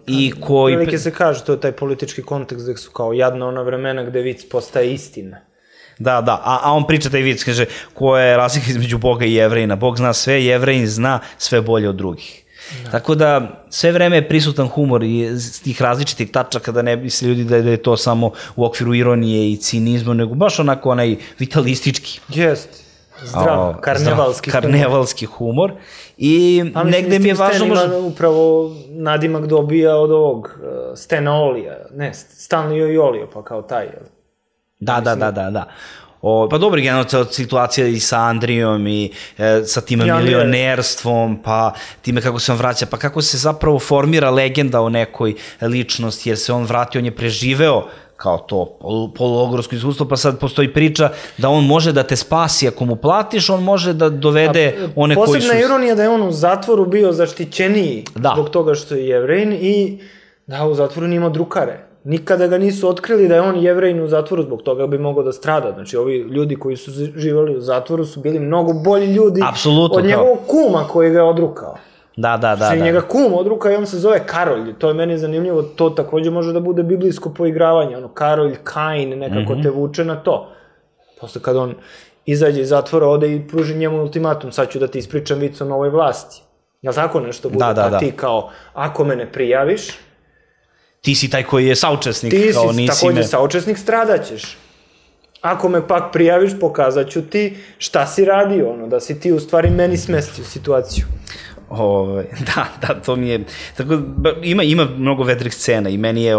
i koji... Velike se kaže, to je taj politički kontekst gde su kao jadna ona vremena gde vic postaje istina. Da, da, a, a on priča taj vic, kaže, koja je razlika između Boga i Jevrejina. Bog zna sve, Jevrejin zna sve bolje od drugih. Da. Tako da, sve vreme je prisutan humor iz tih različitih tačaka, da ne misle ljudi da je, da je to samo u okviru ironije i cinizma, nego baš onako onaj vitalistički. Jest, zdrav, a, karnevalski zdrav, humor. Karnevalski humor. I a negde mi je važno... Stan ima upravo nadimak dobija od ovog uh, Stana Olija, ne, Stanley i Olio, pa kao taj, jel? Da, da, da, da, da. O, pa dobro, generalno situacija i sa Andrijom i e, sa tim milionerstvom, pa time kako se on vraća, pa kako se zapravo formira legenda o nekoj ličnosti, jer se on vratio, on je preživeo kao to poluogorsko iskustvo, pa sad postoji priča da on može da te spasi ako mu platiš, on može da dovede one koji su... Posebna ironija da je on u zatvoru bio zaštićeniji zbog toga što je Jevrejin i da u zatvoru nije imao drukare. Nikada ga nisu otkrili da je on Jevrejin u zatvoru, zbog toga bi mogao da strada. Znači, ovi ljudi koji su živali u zatvoru su bili mnogo bolji ljudi od njegovog kuma koji ga je odrukao. Da, da, da. Znači, njega kum odruka i on se zove Karolj. To je meni zanimljivo. To takođe može da bude biblijsko poigravanje. Ono, Karolj, Kain, nekako te vuče na to. Posle kad on izađe iz zatvora, ode i pruži njemu ultimatum. Sad ću da ti ispričam vic o novoj vlasti. Jel' tako nešto bude? Pa ti kao, ako me ne prijaviš... Ti si taj koji je saučesnik. Ti si takođe saučesnik, stradaćeš. Ako me pak prijaviš, pokazat ću ti šta si radio, ono, da si ti u stvari meni smestio situaciju. Da, da, to mi je... Ima mnogo vedrih scena i meni je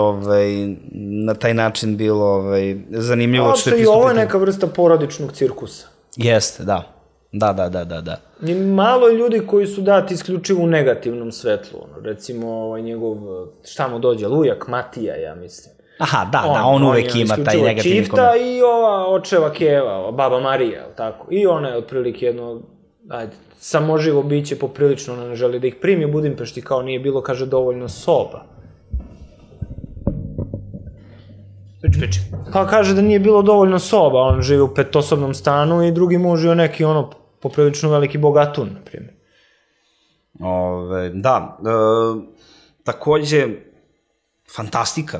na taj način bilo zanimljivo što je pristupiti. I ovo je neka vrsta porodičnog cirkusa. Jeste, da. Da, da, da, da, da. I malo je ljudi koji su dati isključivo u negativnom svetlu, ono, recimo njegov, šta mu dođe, Lujak Matija, ja mislim. Aha, da, da, on uvek ima taj negativni komentar. Čifta i ova očeva Keva, baba Marija, tako. I ona je otprilike jedno, ajde, samoživo biće poprilično, ona ne želi da ih primi u Budimpešti, kao nije bilo, kaže, dovoljno soba. Peči, peči. Pa kaže da nije bilo dovoljno soba, on žive u petosobnom stanu i drugi muž je neki, ono, poprilično veliki bogatun, na primjer. Da, takođe, fantastika,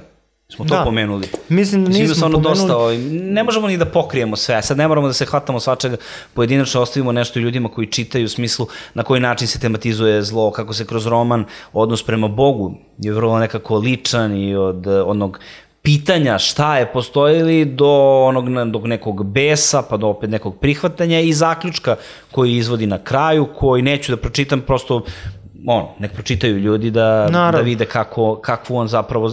smo to pomenuli. Mislim da nismo pomenuli. Ne možemo ni da pokrijemo sve, sad ne moramo da se hvatamo svačega pojedinačno, ostavimo nešto ljudima koji čitaju u smislu na koji način se tematizuje zlo, kako se kroz roman odnos prema Bogu je vrlo nekako ličan i od onog pitanja šta je postojili do onog nekog besa, pa do opet nekog prihvatanja i zaključka koji izvodi na kraju, koji neću da pročitam, prosto ono, nek pročitaju ljudi da vide kakvu on zapravo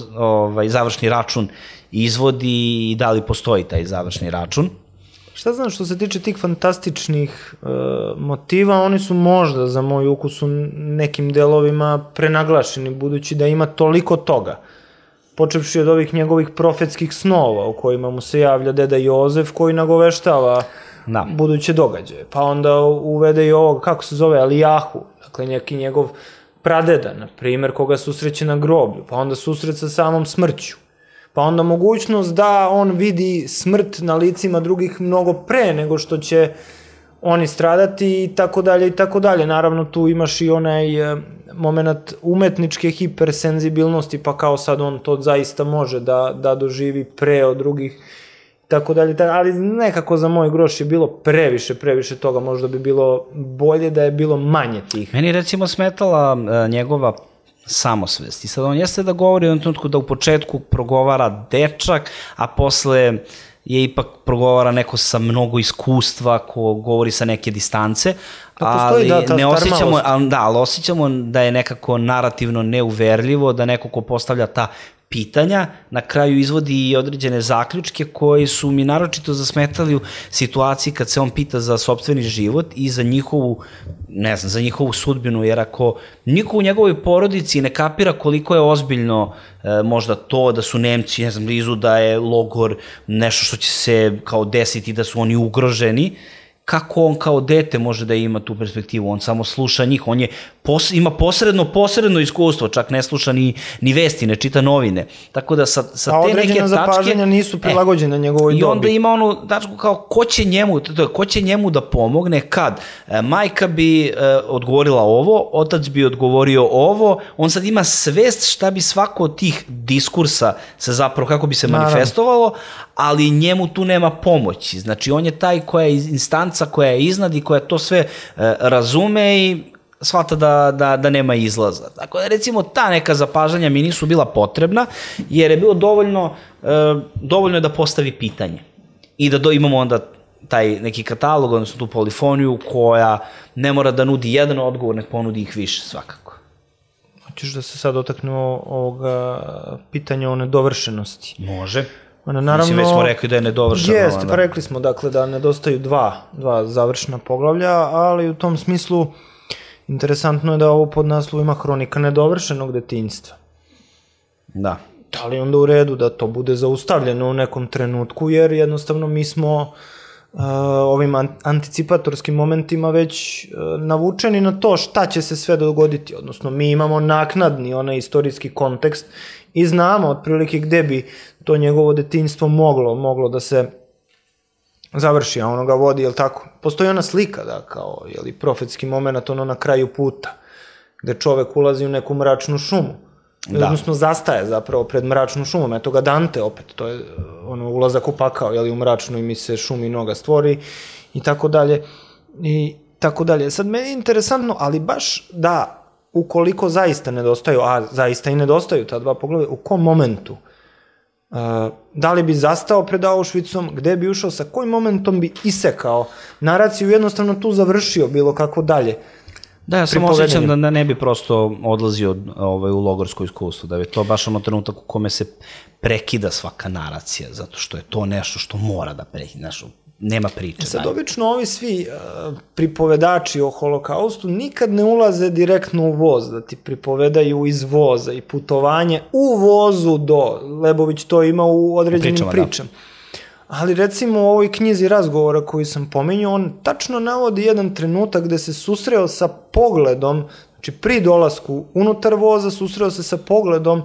završni račun izvodi i da li postoji taj završni račun. Šta znam, što se tiče tih fantastičnih motiva, oni su možda za moj ukus u nekim delovima prenaglašeni, budući da ima toliko toga. Počevši od ovih njegovih profetskih snova u kojima mu se javlja deda Jozef koji nagoveštava buduće događaje. Pa onda uvede i ovog, kako se zove, Alijahu, dakle neki njegov pradeda, na primjer, koga susreće na groblju, pa onda susret sa samom smrću. Pa onda mogućnost da on vidi smrt na licima drugih mnogo pre nego što će oni stradati i tako dalje i tako dalje. Naravno, tu imaš i onaj moment umetničke hipersenzibilnosti, pa kao sad on to zaista može da doživi pre od drugih, tako dalje, ali nekako za moj groš je bilo previše, previše toga, možda bi bilo bolje da je bilo manje tih. Meni je recimo smetala njegova samosvest i sad on jeste da govori u jednom trenutku da u početku progovara dečak, a posle je ipak progovara neko sa mnogo iskustva, ko govori sa neke distance, ali ne osjećamo, da, ali osjećamo da je nekako narativno neuverljivo, da neko ko postavlja ta pitanja, na kraju izvodi i određene zaključke koji su mi naročito zasmetali u situaciji kad se on pita za sopstveni život i za njihovu, ne znam, za njihovu sudbinu, jer ako niko u njegovoj porodici ne kapira koliko je ozbiljno možda to da su Nemci, ne znam, blizu, da je logor nešto što će se kao desiti, da su oni ugroženi, kako on kao dete može da ima tu perspektivu, on samo sluša njih, on je, ima posredno, posredno iskustvo, čak ne sluša ni vesti, ne čita novine, tako da sa te neke tačke... A određena zapažanja nisu prilagođene njegovoj dobi. I onda ima onu tačku kao, ko će njemu, ko će njemu da pomogne, kad majka bi odgovorila ovo, otac bi odgovorio ovo, on sad ima svest šta bi svako od tih diskursa se zapravo, kako bi se manifestovalo, ali njemu tu nema pomoći, znači on je taj koja je instanca, koja je iznad i koja to sve razume i shvata da nema izlaza. Tako da recimo ta neka zapažanja mi nisu bila potrebna, jer je bilo dovoljno dovoljno je da postavi pitanje i da imamo onda taj neki katalog, odnosno tu polifoniju koja ne mora da nudi jedan odgovor, nek ponudi ih više svakako. Hoćeš da se sad dotaknemo ovoga pitanja o nedovršenosti? Može. Mislim, već smo rekli da je nedovršeno. Jeste, pa rekli smo dakle da nedostaju dva, dva završena poglavlja, ali u tom smislu interesantno je da ovo pod naslovom ima hronika nedovršenog detinjstva. Da. da li onda u redu da to bude zaustavljeno u nekom trenutku, jer jednostavno mi smo uh, ovim anticipatorskim momentima već uh, navučeni na to šta će se sve dogoditi, odnosno mi imamo naknadni onaj istorijski kontekst i znamo otprilike gde bi to njegovo detinjstvo moglo, moglo da se završi, a ono ga vodi, jel tako? Postoji ona slika, da, kao, jel, profetski moment, ono na kraju puta, gde čovek ulazi u neku mračnu šumu. Da. Odnosno, zastaje zapravo pred mračnom šumom. Eto ga Dante opet, to je ono, ulazak u pakao, jel, u mračnu i mi se šumi noga stvori i tako dalje. I tako dalje. Sad, meni je interesantno, ali baš da, ukoliko zaista nedostaju, a zaista i nedostaju ta dva pogleda, u kom momentu? Uh, da li bi zastao pred Auschwitzom, gde bi ušao, sa kojim momentom bi isekao naraciju, jednostavno tu završio bilo kako dalje. Da, ja sam osjećam da ne bi prosto odlazio ovaj, u logorsko iskustvo, da bi to baš ono trenutak u kome se prekida svaka naracija, zato što je to nešto što mora da prekida, nešto, nema priče. Sad, obično ovi svi uh, pripovedači o holokaustu nikad ne ulaze direktno u voz, da ti pripovedaju iz voza i putovanje u vozu do, Lebović to ima u određenim pričama. pričama. Ali recimo u ovoj knjizi razgovora koju sam pominjao, on tačno navodi jedan trenutak gde se susreo sa pogledom, znači pri dolasku unutar voza, susreo se sa pogledom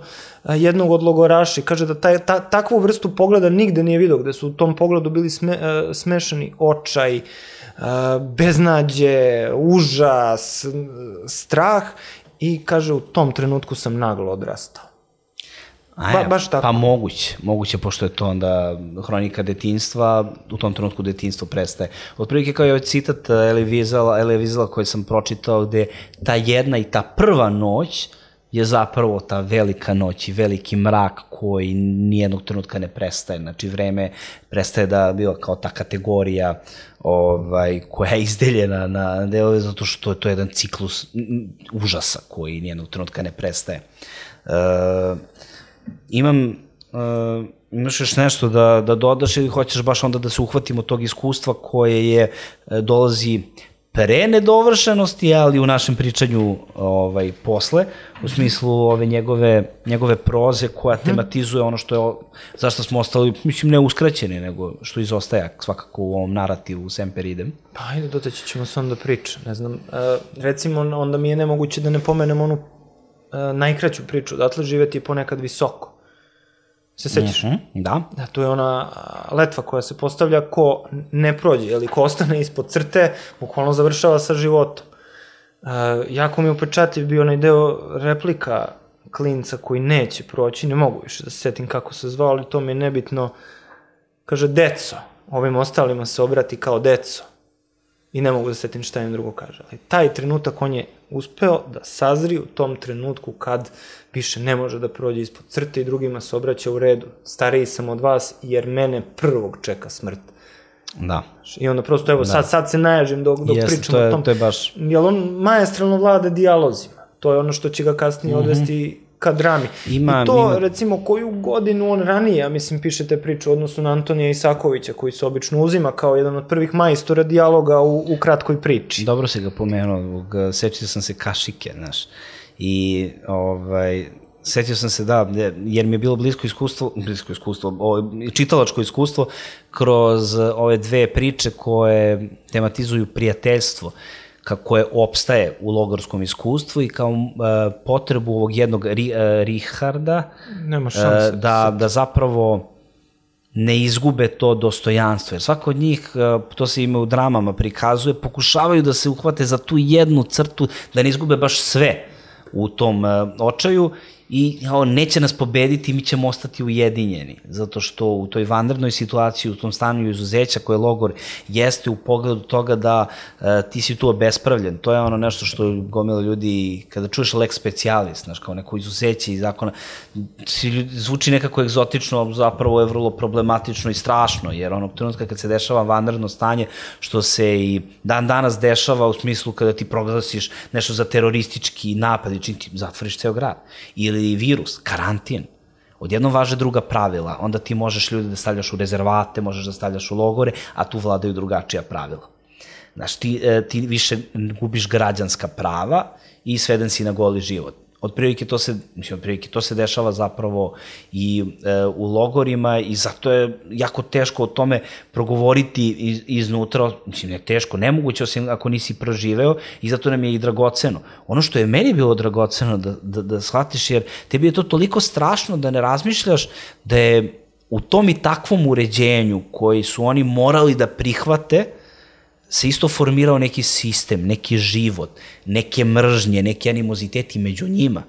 jednog od logoraša i kaže da taj, ta, takvu vrstu pogleda nigde nije vidio, gde su u tom pogledu bili sme, smešani očaj, beznađe, užas, strah i kaže u tom trenutku sam naglo odrastao. Ba, baš tako. Pa moguće, moguće, pošto je to onda hronika detinjstva, u tom trenutku detinjstvo prestaje. Otprilike kao je ovaj citat Elie Wiesela koji sam pročitao, gde ta jedna i ta prva noć je zapravo ta velika noć i veliki mrak koji nijednog trenutka ne prestaje. Znači, vreme prestaje da bila kao ta kategorija ovaj, koja je izdeljena na delove, zato što je to jedan ciklus užasa koji nijednog trenutka ne prestaje. Uh, Imam, uh, imaš još nešto da, da dodaš ili hoćeš baš onda da se uhvatimo tog iskustva koje je, dolazi pre nedovršenosti, ali u našem pričanju ovaj, posle, u smislu ove njegove, njegove proze koja tematizuje ono što je, zašto smo ostali, mislim, ne uskraćeni, nego što izostaje svakako u ovom narativu Semper Idem. Pa ajde, dotaći ćemo se onda priče, ne znam, uh, recimo onda mi je nemoguće da ne pomenem onu Uh, najkraću priču, odatle živeti je ponekad visoko. Se sećaš? Mm-hmm, da. Da, to je ona letva koja se postavlja ko ne prođe, ili ko ostane ispod crte, bukvalno završava sa životom. Uh, jako mi je upečatljiv bio onaj deo replika klinca koji neće proći, ne mogu više da se setim kako se zvao, ali to mi je nebitno. Kaže, deco, ovim ostalima se obrati kao deco. I ne mogu da setim šta im drugo kaže. Ali taj trenutak on je uspeo da sazri u tom trenutku kad više ne može da prođe ispod crte i drugima se obraća u redu. Stariji sam od vas jer mene prvog čeka smrt. Da. I onda prosto, evo, da. sad, sad se najažim dok, dok Jeste, pričam to je, o tom. To je baš... Jer on majestralno vlada dijalozima. To je ono što će ga kasnije mm-hmm. odvesti ka drami. Ima, I to, ima... recimo, koju godinu on ranije, ja mislim, pišete priču, odnosno na Antonija Isakovića, koji se obično uzima kao jedan od prvih majstora dijaloga u, u kratkoj priči. Dobro si ga pomenuo, sećao sam se Kašike, znaš, i ovaj... Setio sam se, da, jer mi je bilo blisko iskustvo, blisko iskustvo, ovo, čitalačko iskustvo kroz ove dve priče koje tematizuju prijateljstvo, kako je opstaje u logorskom iskustvu i kao uh, potrebu ovog jednog ri, uh, Richarda Nema šanse, uh, da, da zapravo ne izgube to dostojanstvo, jer svako od njih, uh, to se ima u dramama prikazuje, pokušavaju da se uhvate za tu jednu crtu, da ne izgube baš sve u tom uh, očaju i o, neće nas pobediti, mi ćemo ostati ujedinjeni, zato što u toj vanrednoj situaciji, u tom stanju izuzeća koje logor jeste u pogledu toga da e, ti si tu obespravljen. To je ono nešto što gomila ljudi, kada čuješ lex specialis, znaš, kao neko izuzeće iz zakona, zvuči nekako egzotično, zapravo je vrlo problematično i strašno, jer onog trenutka kad se dešava vanredno stanje, što se i dan danas dešava u smislu kada ti proglasiš nešto za teroristički napad i čim ti zatvoriš ceo grad. Ili virus, karantin, odjednom važe druga pravila, onda ti možeš ljudi da stavljaš u rezervate, možeš da stavljaš u logore, a tu vladaju drugačija pravila. Znaš, ti, ti više gubiš građanska prava i sveden si na goli život. otprilike to se, mislim, otprilike to se dešava zapravo i e, u logorima i zato je jako teško o tome progovoriti iz, iznutra, mislim, ne teško, nemoguće osim ako nisi proživeo i zato nam je i dragoceno. Ono što je meni bilo dragoceno da, da, da shvatiš, jer tebi je to toliko strašno da ne razmišljaš da je u tom i takvom uređenju koji su oni morali da prihvate se isto formirao neki sistem, neki život, neke mržnje, neki animoziteti među njima.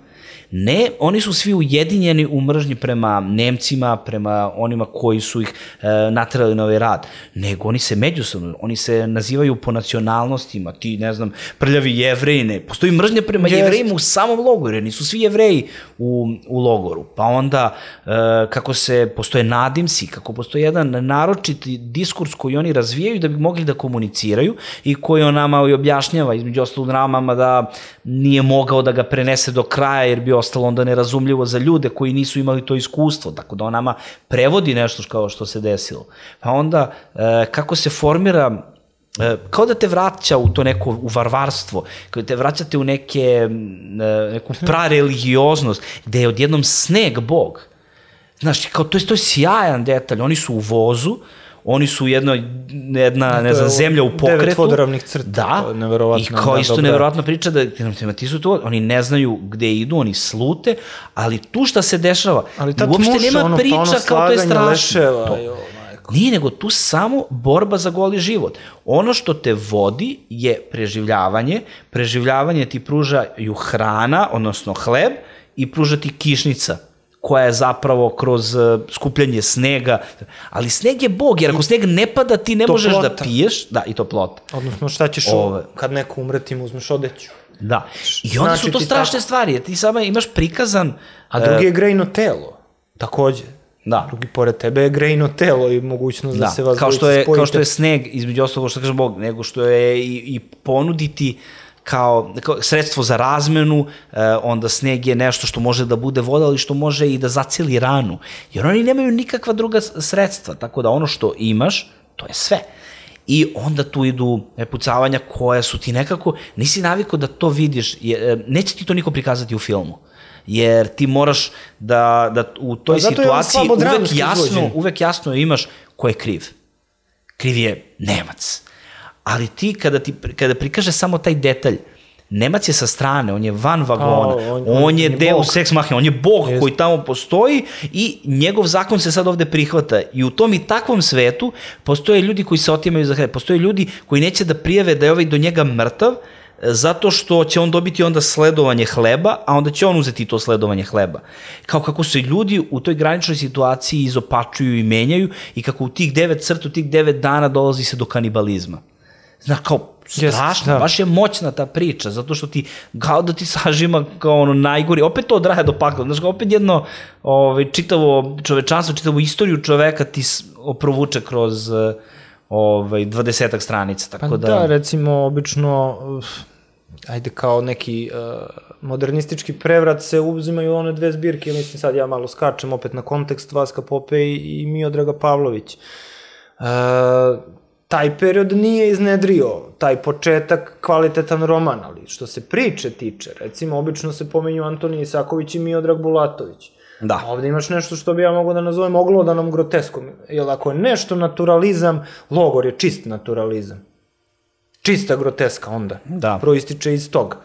Ne, oni su svi ujedinjeni u mržnji prema Nemcima, prema onima koji su ih e, naterali na ovaj rad, nego oni se međusobno, oni se nazivaju po nacionalnostima, ti, ne znam, prljavi Jevreji, ne, postoji mržnja prema Jest. Jevrejima u samom logoru, jer nisu svi Jevreji u, u logoru, pa onda e, kako se, postoje nadimci, kako postoji jedan naročiti diskurs koji oni razvijaju da bi mogli da komuniciraju i koji on nama i objašnjava, između ostalog namama da nije mogao da ga prenese do kraja, jer bi ostalo onda nerazumljivo za ljude koji nisu imali to iskustvo, tako da on nama prevodi nešto kao što se desilo. Pa onda, e, kako se formira, e, kao da te vraća u to neko, u varvarstvo, kao da te vraćate u neke, e, neku prareligioznost, gde je odjednom sneg Bog. Znaš, kao, to je, to je sjajan detalj, oni su u vozu, oni su jedno, jedna, ne znam, zemlja u pokretu. Devet vodoravnih crta. Da, i kao isto neverovatna priča da ti su to, oni ne znaju gde idu, oni slute, ali tu šta se dešava, uopšte nema priča kao to je strašno. Nije, nego tu samo borba za goli život. Ono što te vodi je preživljavanje, preživljavanje ti pružaju hrana, odnosno hleb, i pruža ti kišnica, koja je zapravo kroz skupljanje snega, ali sneg je Bog, jer ako sneg ne pada, ti ne možeš da piješ, da, i toplota. Odnosno, šta ćeš Ove. kad neko umre, ti mu uzmeš odeću. Da, i onda znači, su to strašne tako... stvari, jer ti samo imaš prikazan... A drugi je grejno telo, takođe. Da. Drugi pored tebe je grejno telo i mogućnost da, da se vas kao što je, spojite. Kao što je sneg, između ostalog što kaže Bog, nego što je i, i ponuditi kao, kao sredstvo za razmenu, eh, onda sneg je nešto što može da bude voda, ali što može i da zaceli ranu. Jer oni nemaju nikakva druga sredstva, tako da ono što imaš, to je sve. I onda tu idu pucavanja koja su ti nekako, nisi navikao da to vidiš, je, neće ti to niko prikazati u filmu. Jer ti moraš da, da u toj situaciji uvek jasno, uvek jasno imaš ko je kriv. Kriv je Nemac. Ali ti, kada, ti, kada prikaže samo taj detalj, Nemac je sa strane, on je van vagona, oh, on, on, on je deus ex machina, on je Bog Jest. koji tamo postoji i njegov zakon se sad ovde prihvata. I u tom i takvom svetu postoje ljudi koji se otimaju za hleb, postoje ljudi koji neće da prijave da je ovaj do njega mrtav, zato što će on dobiti onda sledovanje hleba, a onda će on uzeti to sledovanje hleba. Kao kako se ljudi u toj graničnoj situaciji izopačuju i menjaju i kako u tih devet crta, u tih devet dana dolazi se do kanibalizma. Znaš, kao, strašno, yes, baš je moćna ta priča, zato što ti, kao da ti sažima kao ono najgori, opet to odraje do pakla, znaš, opet jedno ovaj, čitavo čovečanstvo, čitavu istoriju čoveka ti provuče kroz ovaj, dvadesetak stranica, tako pa da... da, recimo, obično, ajde kao neki uh, modernistički prevrat se uzimaju one dve zbirke, mislim sad ja malo skačem opet na kontekst Vaska Popej i Miodraga Pavlović. Uh, taj period nije iznedrio, taj početak kvalitetan roman, ali što se priče tiče, recimo, obično se pomenju Antonij Isaković i Miodrag Bulatović. Da. A ovde imaš nešto što bi ja mogao da nazovem oglodanom groteskom, jer ako je nešto naturalizam, logor je čist naturalizam. Čista groteska onda, da. Proističe iz toga.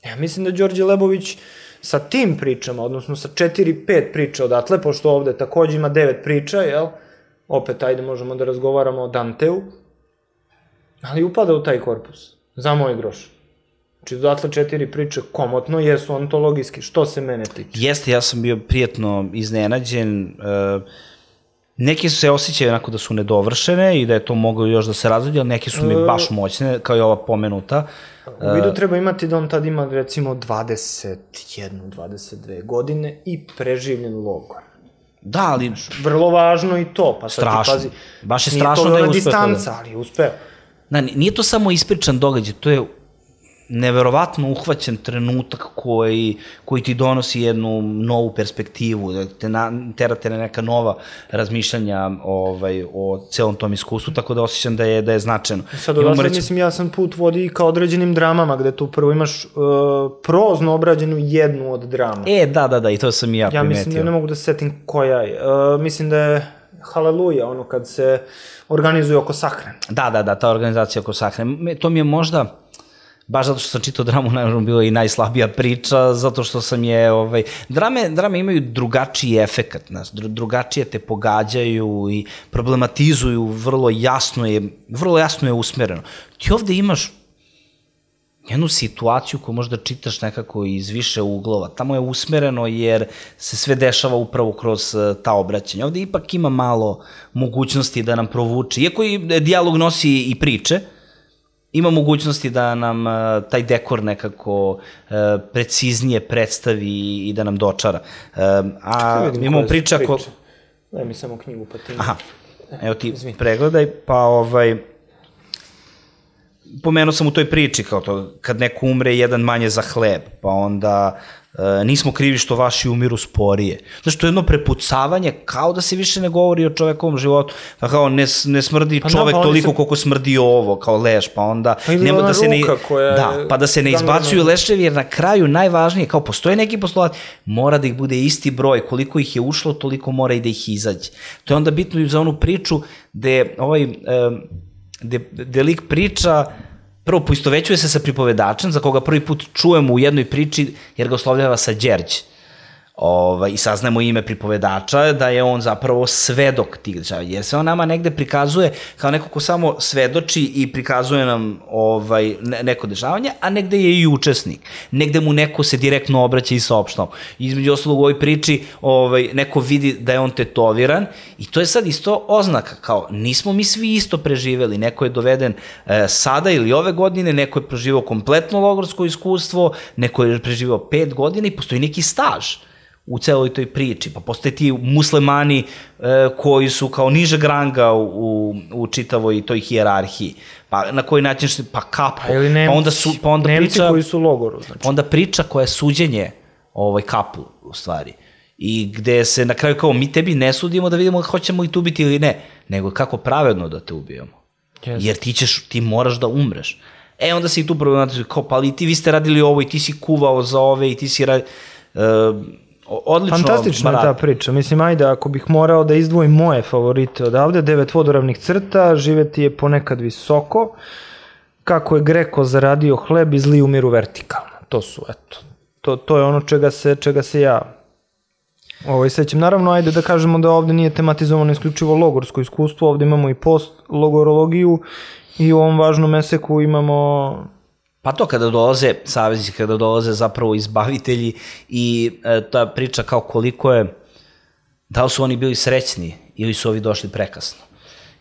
Ja mislim da Đorđe Lebović sa tim pričama, odnosno sa četiri, pet priča odatle, pošto ovde takođe ima devet priča, jel? Opet, ajde, možemo da razgovaramo o Danteu, ali upada u taj korpus, za moj groš. Znači, dodatle četiri priče komotno jesu ontologijski, što se mene tiče. Jeste, ja sam bio prijetno iznenađen. Neki su se osjećaju onako da su nedovršene i da je to moglo još da se razvodi, ali neki su mi baš moćne, kao i ova pomenuta. U vidu treba imati da on tad ima, recimo, dvadeset jedna, dvadeset dve godine i preživljen logor. Da, ali... Vrlo važno i to, pa sad ti pazi. Baš je strašno da je uspeo. Nije to distanca, ali je uspeo. Da, nije to samo ispričan događaj, to je neverovatno uhvaćen trenutak koji, koji ti donosi jednu novu perspektivu, da te na, terate na neka nova razmišljanja ovaj, o celom tom iskustvu, tako da osjećam da je, da je značajno. Sad od sad, mislim, jasan put vodi ka određenim dramama, gde tu prvo imaš uh, prozno obrađenu jednu od drama. E, da, da, da, i to sam i ja primetio. Ja mislim da ne mogu da se setim koja je. Uh, mislim da je Haleluja, ono kad se organizuje oko sahrane. Da, da, da, ta organizacija oko sahrane. To mi je možda, baš zato što sam čitao dramu, naravno bilo i najslabija priča, zato što sam je, ovaj, drame, drame imaju drugačiji efekat, znaš, drugačije te pogađaju i problematizuju, vrlo jasno je, vrlo jasno je usmereno. Ti ovde imaš jednu situaciju koju možda čitaš nekako iz više uglova. Tamo je usmereno jer se sve dešava upravo kroz ta obraćanja. Ovde ipak ima malo mogućnosti da nam provuče. Iako i dijalog nosi i priče, ima mogućnosti da nam uh, taj dekor nekako uh, preciznije predstavi i da nam dočara. Uh, a imamo priča... Ko... Daj mi samo knjigu pa ti... Aha, evo ti Izvim. Pregledaj, pa ovaj... Pomenuo sam u toj priči kao to, kad neko umre jedan manje za hleb, pa onda e, nismo krivi što vaši umiru sporije. Znači, to je jedno prepucavanje, kao da se više ne govori o čovekovom životu, pa kao ne, ne smrdi pa čovek no, pa toliko se... koliko smrdi ovo, kao leš, pa onda... Pa nema da se ne, da, pa da se ne izbacuju leševi, jer na kraju najvažnije, kao postoje neki poslovat, mora da ih bude isti broj, koliko ih je ušlo, toliko mora i da ih izađe. To je onda bitno i za onu priču gde ovaj... E, gde, gde lik priča, prvo poistovećuje se sa pripovedačem, za koga prvi put čujemo u jednoj priči, jer ga oslovljava sa Đerđ. Ovaj, i saznamo ime pripovedača, da je on zapravo svedok tih dešava, jer se on nama negde prikazuje kao neko ko samo svedoči i prikazuje nam ovaj, neko dešavanje, a negde je i učesnik. Negde mu neko se direktno obraća i saopštava. Između ostalog u ovoj priči ovaj, neko vidi da je on tetoviran i to je sad isto oznaka, kao nismo mi svi isto preživeli, neko je doveden e, sada ili ove godine, neko je preživao kompletno logorsko iskustvo, neko je preživao pet godina i postoji neki staž u celoj toj priči, pa postoje ti muslimani e, koji su kao nižeg ranga u, u čitavoj toj hijerarhiji, pa na koji način, pa kapo, pa, Nemci, pa onda, su, pa onda Nemci priča, koji su u logoru, znači. Onda priča koja je suđenje ovaj, kapu, u stvari, i gde se na kraju kao mi tebi ne sudimo da vidimo hoćemo i tu biti ili ne, nego kako pravedno da te ubijemo, yes. Jer ti ćeš, ti moraš da umreš. E, onda se i tu problematizuju, kao, pa ali ti vi ste radili ovo i ti si kuvao za ove i ti si radili... Uh, Odlično, fantastična je ta priča. Mislim, ajde, ako bih morao da izdvojim moje favorite odavde, devet vodoravnih crta, živeti je ponekad visoko, kako je Greko zaradio hleb i zli umiru vertikalno. To su, eto, to, to je ono čega se, čega se ja ovaj, sećam. Naravno, ajde da kažemo da ovde nije tematizovano isključivo logorsko iskustvo, ovde imamo i post-logorologiju i u ovom važnom eseku imamo... Pa to kada dolaze saveznici, kada dolaze zapravo izbavitelji i e, ta priča kao koliko je, da li su oni bili srećni ili su ovi došli prekasno.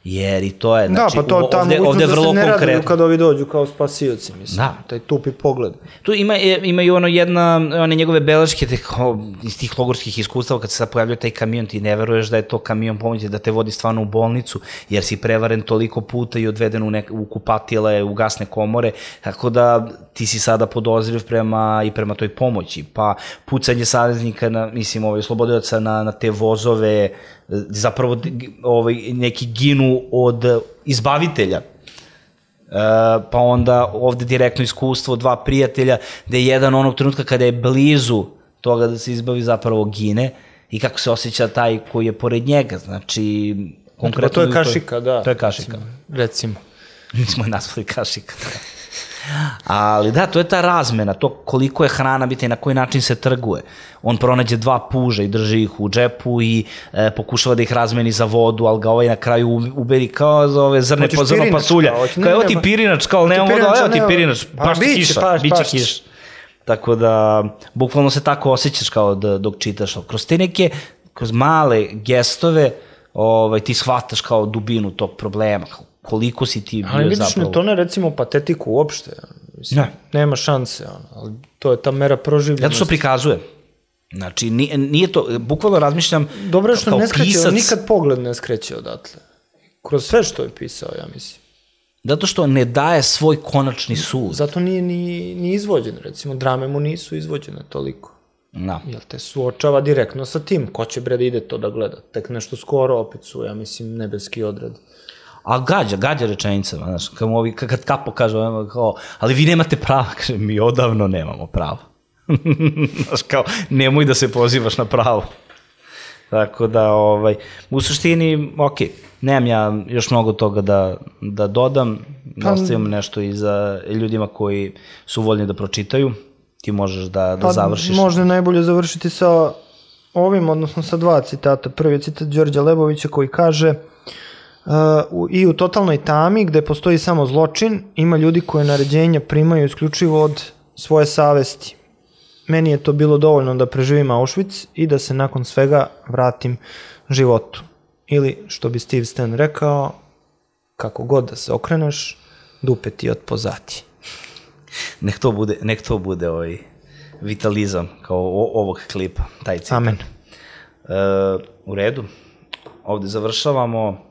Jer i to je, znači, da, pa to, ovde, ovde je vrlo konkretno. Da se ne raduju kada ovi dođu kao spasioci, mislim, da. Taj tupi pogled. Tu ima, ima i ono jedna, one njegove beleške te, kao, iz tih logorskih iskustava, kad se sad pojavljaju taj kamion, ti ne veruješ da je to kamion pomoći, da te vodi stvarno u bolnicu, jer si prevaren toliko puta i odveden u, nek, u kupatile, u gasne komore, tako da ti si sada podozriv prema, i prema toj pomoći. Pa pucanje saveznika, na, mislim, ovaj, slobodilaca na, na te vozove, zapravo ovaj, neki ginu od izbavitelja. E, pa onda ovde direktno iskustvo dva prijatelja, gde jedan onog trenutka kada je blizu toga da se izbavi zapravo gine i kako se osjeća taj koji je pored njega. Znači, konkretno... Pa to je kašika, da. To je kašika. Recimo. Mi smo je nazvali kašika, da. Ali da, to je ta razmena, to koliko je hrana biti i na koji način se trguje. On pronađe dva puža i drži ih u džepu i e, pokušava da ih razmeni za vodu, ali ga ovaj na kraju uberi kao za ove zrne, po, zrno pasulja. Kao, evo ti pirinač, kao nemam vodu, evo ti pirinač, baš ti kiša, bit će kiša. Tako da, bukvalno se tako osjećaš kao da, dok čitaš. Kroz te neke, kroz male gestove, ovaj, ti shvataš kao dubinu tog problema, kao koliko si ti bio zapravo... Ali vidiš, ne, to ne recimo patetiku uopšte, mislim, ne. Nema šanse, ali to je ta mera proživljenosti. Zato što prikazuje. Znači, nije, nije to, bukvalno razmišljam... Dobro je što kao ne skreće, pisac... nikad pogled ne skreće odatle. Kroz sve što je pisao, ja mislim. Zato što ne daje svoj konačni sud. Zato nije ni, ni izvođen, recimo, drame mu nisu izvođene toliko. Da. Jel te suočava direktno sa tim, ko će bre da ide to da gleda, tek nešto skoro opet su, ja mislim, nebeski odred. A gađa, gađa rečenicama, znaš, kad, mu ovi, kad Kapo kaže, kao, ali vi nemate prava, kaže, mi odavno nemamo prava. Znaš, kao, nemoj da se pozivaš na pravo. Tako da, ovaj, u suštini, okej, nemam ja još mnogo toga da, da dodam, da ostavim nešto i za ljudima koji su voljni da pročitaju, ti možeš da, da završiš. Možda je najbolje završiti sa ovim, odnosno sa dva citata. Prvi je citat Đorđa Lebovića koji kaže uh, i u totalnoj tami gde postoji samo zločin, ima ljudi koje naređenja primaju isključivo od svoje savesti. Meni je to bilo dovoljno da preživim Auschwitz i da se nakon svega vratim životu. Ili, što bi Steve Stan rekao, kako god da se okreneš, dupe ti od pozati. Nek to bude, nek to bude ovaj vitalizam kao o, ovog klipa, taj citat. Amen. E, u redu, ovde završavamo.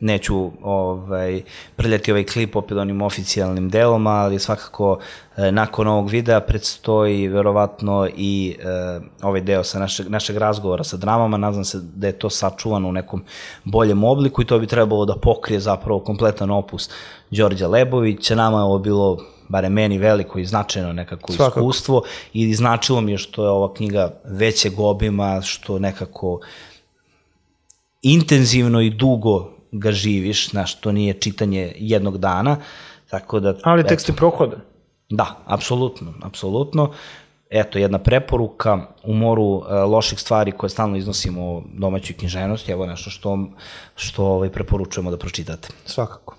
Neću ovaj, prljati ovaj klip opet onim oficijalnim delom, ali svakako e, nakon ovog videa predstoji verovatno i e, ovaj deo sa našeg, našeg razgovora sa dramama. Nadam se da je to sačuvano u nekom boljem obliku i to bi trebalo da pokrije zapravo kompletan opus Đorđa Lebovića. Nama je ovo bilo, barem meni, veliko i značajno nekako svakako iskustvo i značilo mi je što je ova knjiga većeg obima, što nekako intenzivno i dugo ga živiš, znaš, to nije čitanje jednog dana, tako da... Ali tekst je prohodan. Da, apsolutno, apsolutno. Eto, jedna preporuka u moru uh, loših stvari koje stalno iznosimo o domaćoj književnosti, evo nešto što, što ovaj, preporučujemo da pročitate. Svakako.